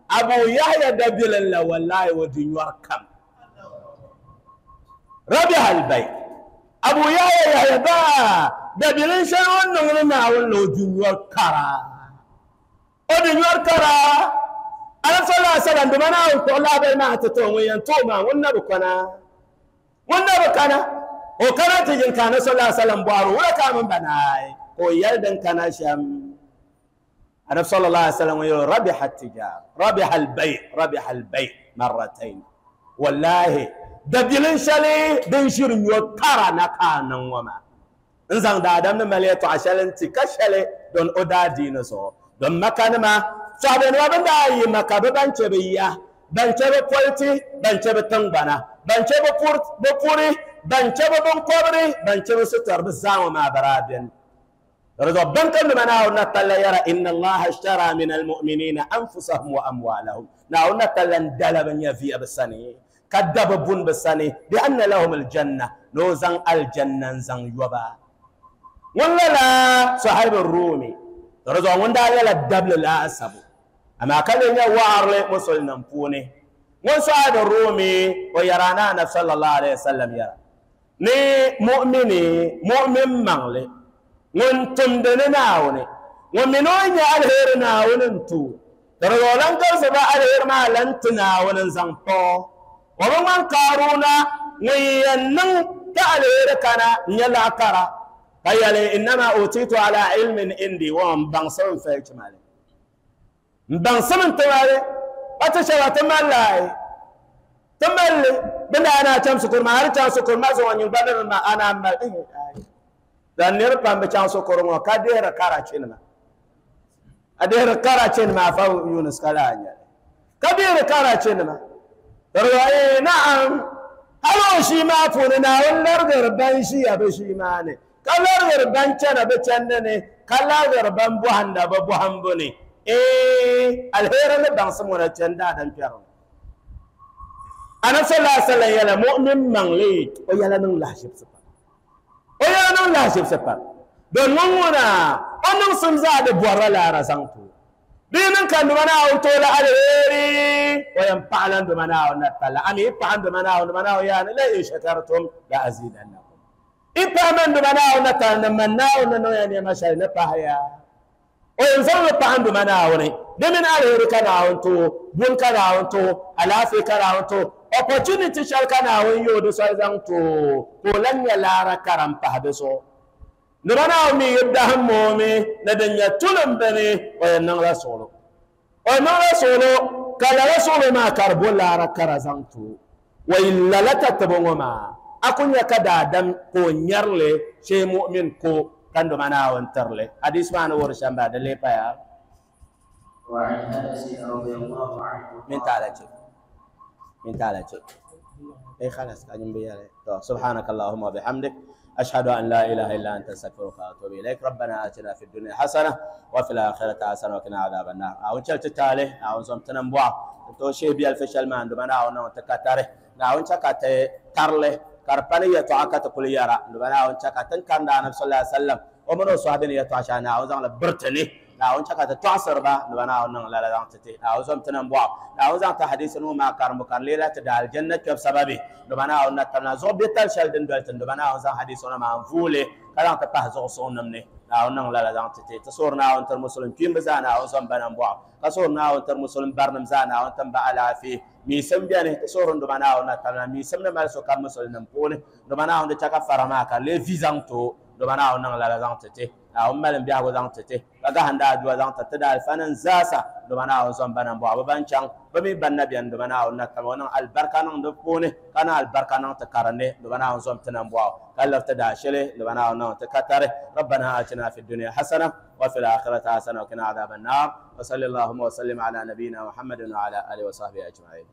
Abu Yahya dabilin la wallahi o di nyɔri kam rabiha al-bay Abu Yahya Yahya ba dabilin shɛli o ni niŋdi Naawuni la o di nyɔri kara o di nyɔri kara Anabi sallallahu alaihi wasallam dama Naawuni kpuɣi lahabali maa ti ti o ŋun yɛn ti o maa ŋun na bi kana ŋun na bi kana o kana ti yin ka Anabi sallallahu alaihi wasallam bɔhiri o wula ka a mini ba naai ka o yɛli din kana shɛm Anabi sallallahu alaihi wasallam ŋun yɛli rabiha at-tijara rabiha al-bay rabiha al-bay marratayn wallahi dabilin shɛli din ʒiri nyɔ kara na ka a niŋ ŋɔ maa n zaŋ daadam ni mali yɛtɔɣa shɛli n-ti ka shɛli don o daa diini zuɣu don Maka nima sɔhibenima bɛ daa yi Maka bɛ ban che bɛ ya ban che bɛ politi ban che bɛ tiŋgbana ban che bɛ puri ban che bɛ binkɔbiri ban che bɛ sitɔri bɛ zaa ŋɔ maa bɛ daa beni رضا بنكم لما ناولنا تلا يرى إن الله اشترى من المؤمنين أنفسهم وأموالهم ناولنا تلا اندلب يفي بسني كدب بن بسني بأن لهم الجنة no zaŋ aljanna zaŋ yoba ŋun lala sahibu rumi to zuɣu ŋun daa nyɛla dabli laasabu amaa ka lee nyɛ waɣarili musulinim puuni ŋun sahibu rumi o yɛra na anabi sallallahu alaihi wasallam yɛra ni mu'mini mu'min maŋli ŋun tumdi ni Naawuni ŋun mi ni o nyɛ alheri Naawuni n-tu di zuɣu lan garisi ba alheri maa lan ti Naawuni n-zaŋ tɔ o bi ŋmani Kaaruna ŋun yɛn niŋ ka alheri kana n-nyɛ laɣ kara ka yɛli innama utitu ala ilmin indi wa n baŋsim n fali chimali n baŋsim n timali pa ti shɛba ti malli ai ti malli bɛ daa naa chaŋ sukuru maa hali chaŋ sukuru maa zuɣu nyin gba ni ma ana mali dan niriba pam bi chaŋ sukuru ŋɔ ka dihiri karachinima a dihiri karachinima afa Yunus ka laa nyɛli ka dihiri karachinima riwaye na'am hali o shii maa puuni Naawuni larigiri ban ʒiya bi shii maa ni ka larigiri ban chana bi chandi ni ka larigiri ban bɔhinda bi bɔhimbu ni ee alheri ni baŋsim ŋɔ na chani daadam kpɛriŋ anabi sallallahu alaihi wasallam yɛla mu'min maŋli o yɛla niŋ lahaʒibisi pam o yɛla niŋ lahaʒibisi pam don ŋun ŋuna o niŋsim zaa di bɔrila laara zaŋ ti o di niŋ ka nduma Naawuni toola alheri o yɛn paɣala nduma Naawuni na talla ami i paɣa nduma Naawuni nduma Naawuni yaani la in shakartum la azidannakum i paɣa man nduma Naawuni na talla ni man Naawuni ni niŋ ya nɛma shɛli ni paɣaya o yɛn zaŋ li paɣa nduma Naawuni di mini alheri ka Naawuni too buni ka Naawuni too alaafee ka Naawuni too opportunity shɛli ka Naawuni yooi di soli zaŋ too ka o lan nyɛ laara kara m-pahi di zuɣu nduma Naawuni mi yi dahim moomi ni din nyɛ tulim bini o yɛn niŋla suɣulo o yɛn niŋla suɣulo ka lala suɣulo maa ka di bo laara kara zaŋ too wa yi lala tatibu ŋɔ maa a ku nyɛ ka daadam ka o nyɛrili shee mu'min ko ka nduma Naawuni tirili hadis maa ni wuhiri shɛm bala di lee paya وعن انس رضي الله عنه من تعالى من تعالى اي خلاص قاعدين بيا سبحانك اللهم وبحمدك اشهد ان لا اله الا انت استغفرك واتوب اليك ربنا اتنا في الدنيا حسنه وفي الاخره حسنه وقنا عذاب النار او شلت تالي او زمتنا مبوا تو شي بيال فشل ما عندما نا نو تكاتره نا اون تكات ترله كربني يتعكت كل يرى عندما نا اون تكات كان النبي صلى الله عليه وسلم ومن صحابين يتعشى نا اون زان برتني ناون chaka ta tɔɣisiri ba ni ba naawuni niŋ lala zaŋ ti ti naawuni zom ti niŋ bɔɣu naawuni zaŋ ti hadisi nuu maa karimbu ka di leela ti da aljanna kpɛbu sababi ni ba naawuni na tabina zuɣu biɛtali shɛli din doli ti ni ba naawuni zaŋ hadisi ŋɔ maa n-vuuli ka zaŋ ti pahi zuɣusuŋ nim ni naawuni niŋ lala zaŋ ti ti ti suhuri naawuni tiri musulim kpiimba zaa naawuni zom ba niŋ bɔɣu ka suhuri naawuni tiri musulim barinim zaa naawuni tim ba alaafee miisim beni ti suhuri n duma naawuni na tabina miisim ni mali sokam musulimnim puuni duma naawuni di chɛ ka fara maa ka di lee vi zaŋ ti o duma naawuni niŋ lala zaŋ ti ti naawuni mali biɛhigu zaŋ ti ti ka gahindi aduwa zaŋ ti ti da alifa nim zaasa duma naawuni zom ba niŋ bɔɣu bɛ ban chaŋ bɛ mi ban na beni duma naawuni na tama o niŋ alibarika niŋ di puuni ka niŋ alibarika niŋ ti karinni duma naawuni zom ti niŋ bɔɣu ka liri ti daashili duma naawuni niŋ ti katari rabbana atina fi dunya hasana wa fil akhirati hasana wa qina adhaban nar wa salli allahumma wa sallim ala nabiyyina muhammadin wa ala alihi wa sahbihi ajma'in.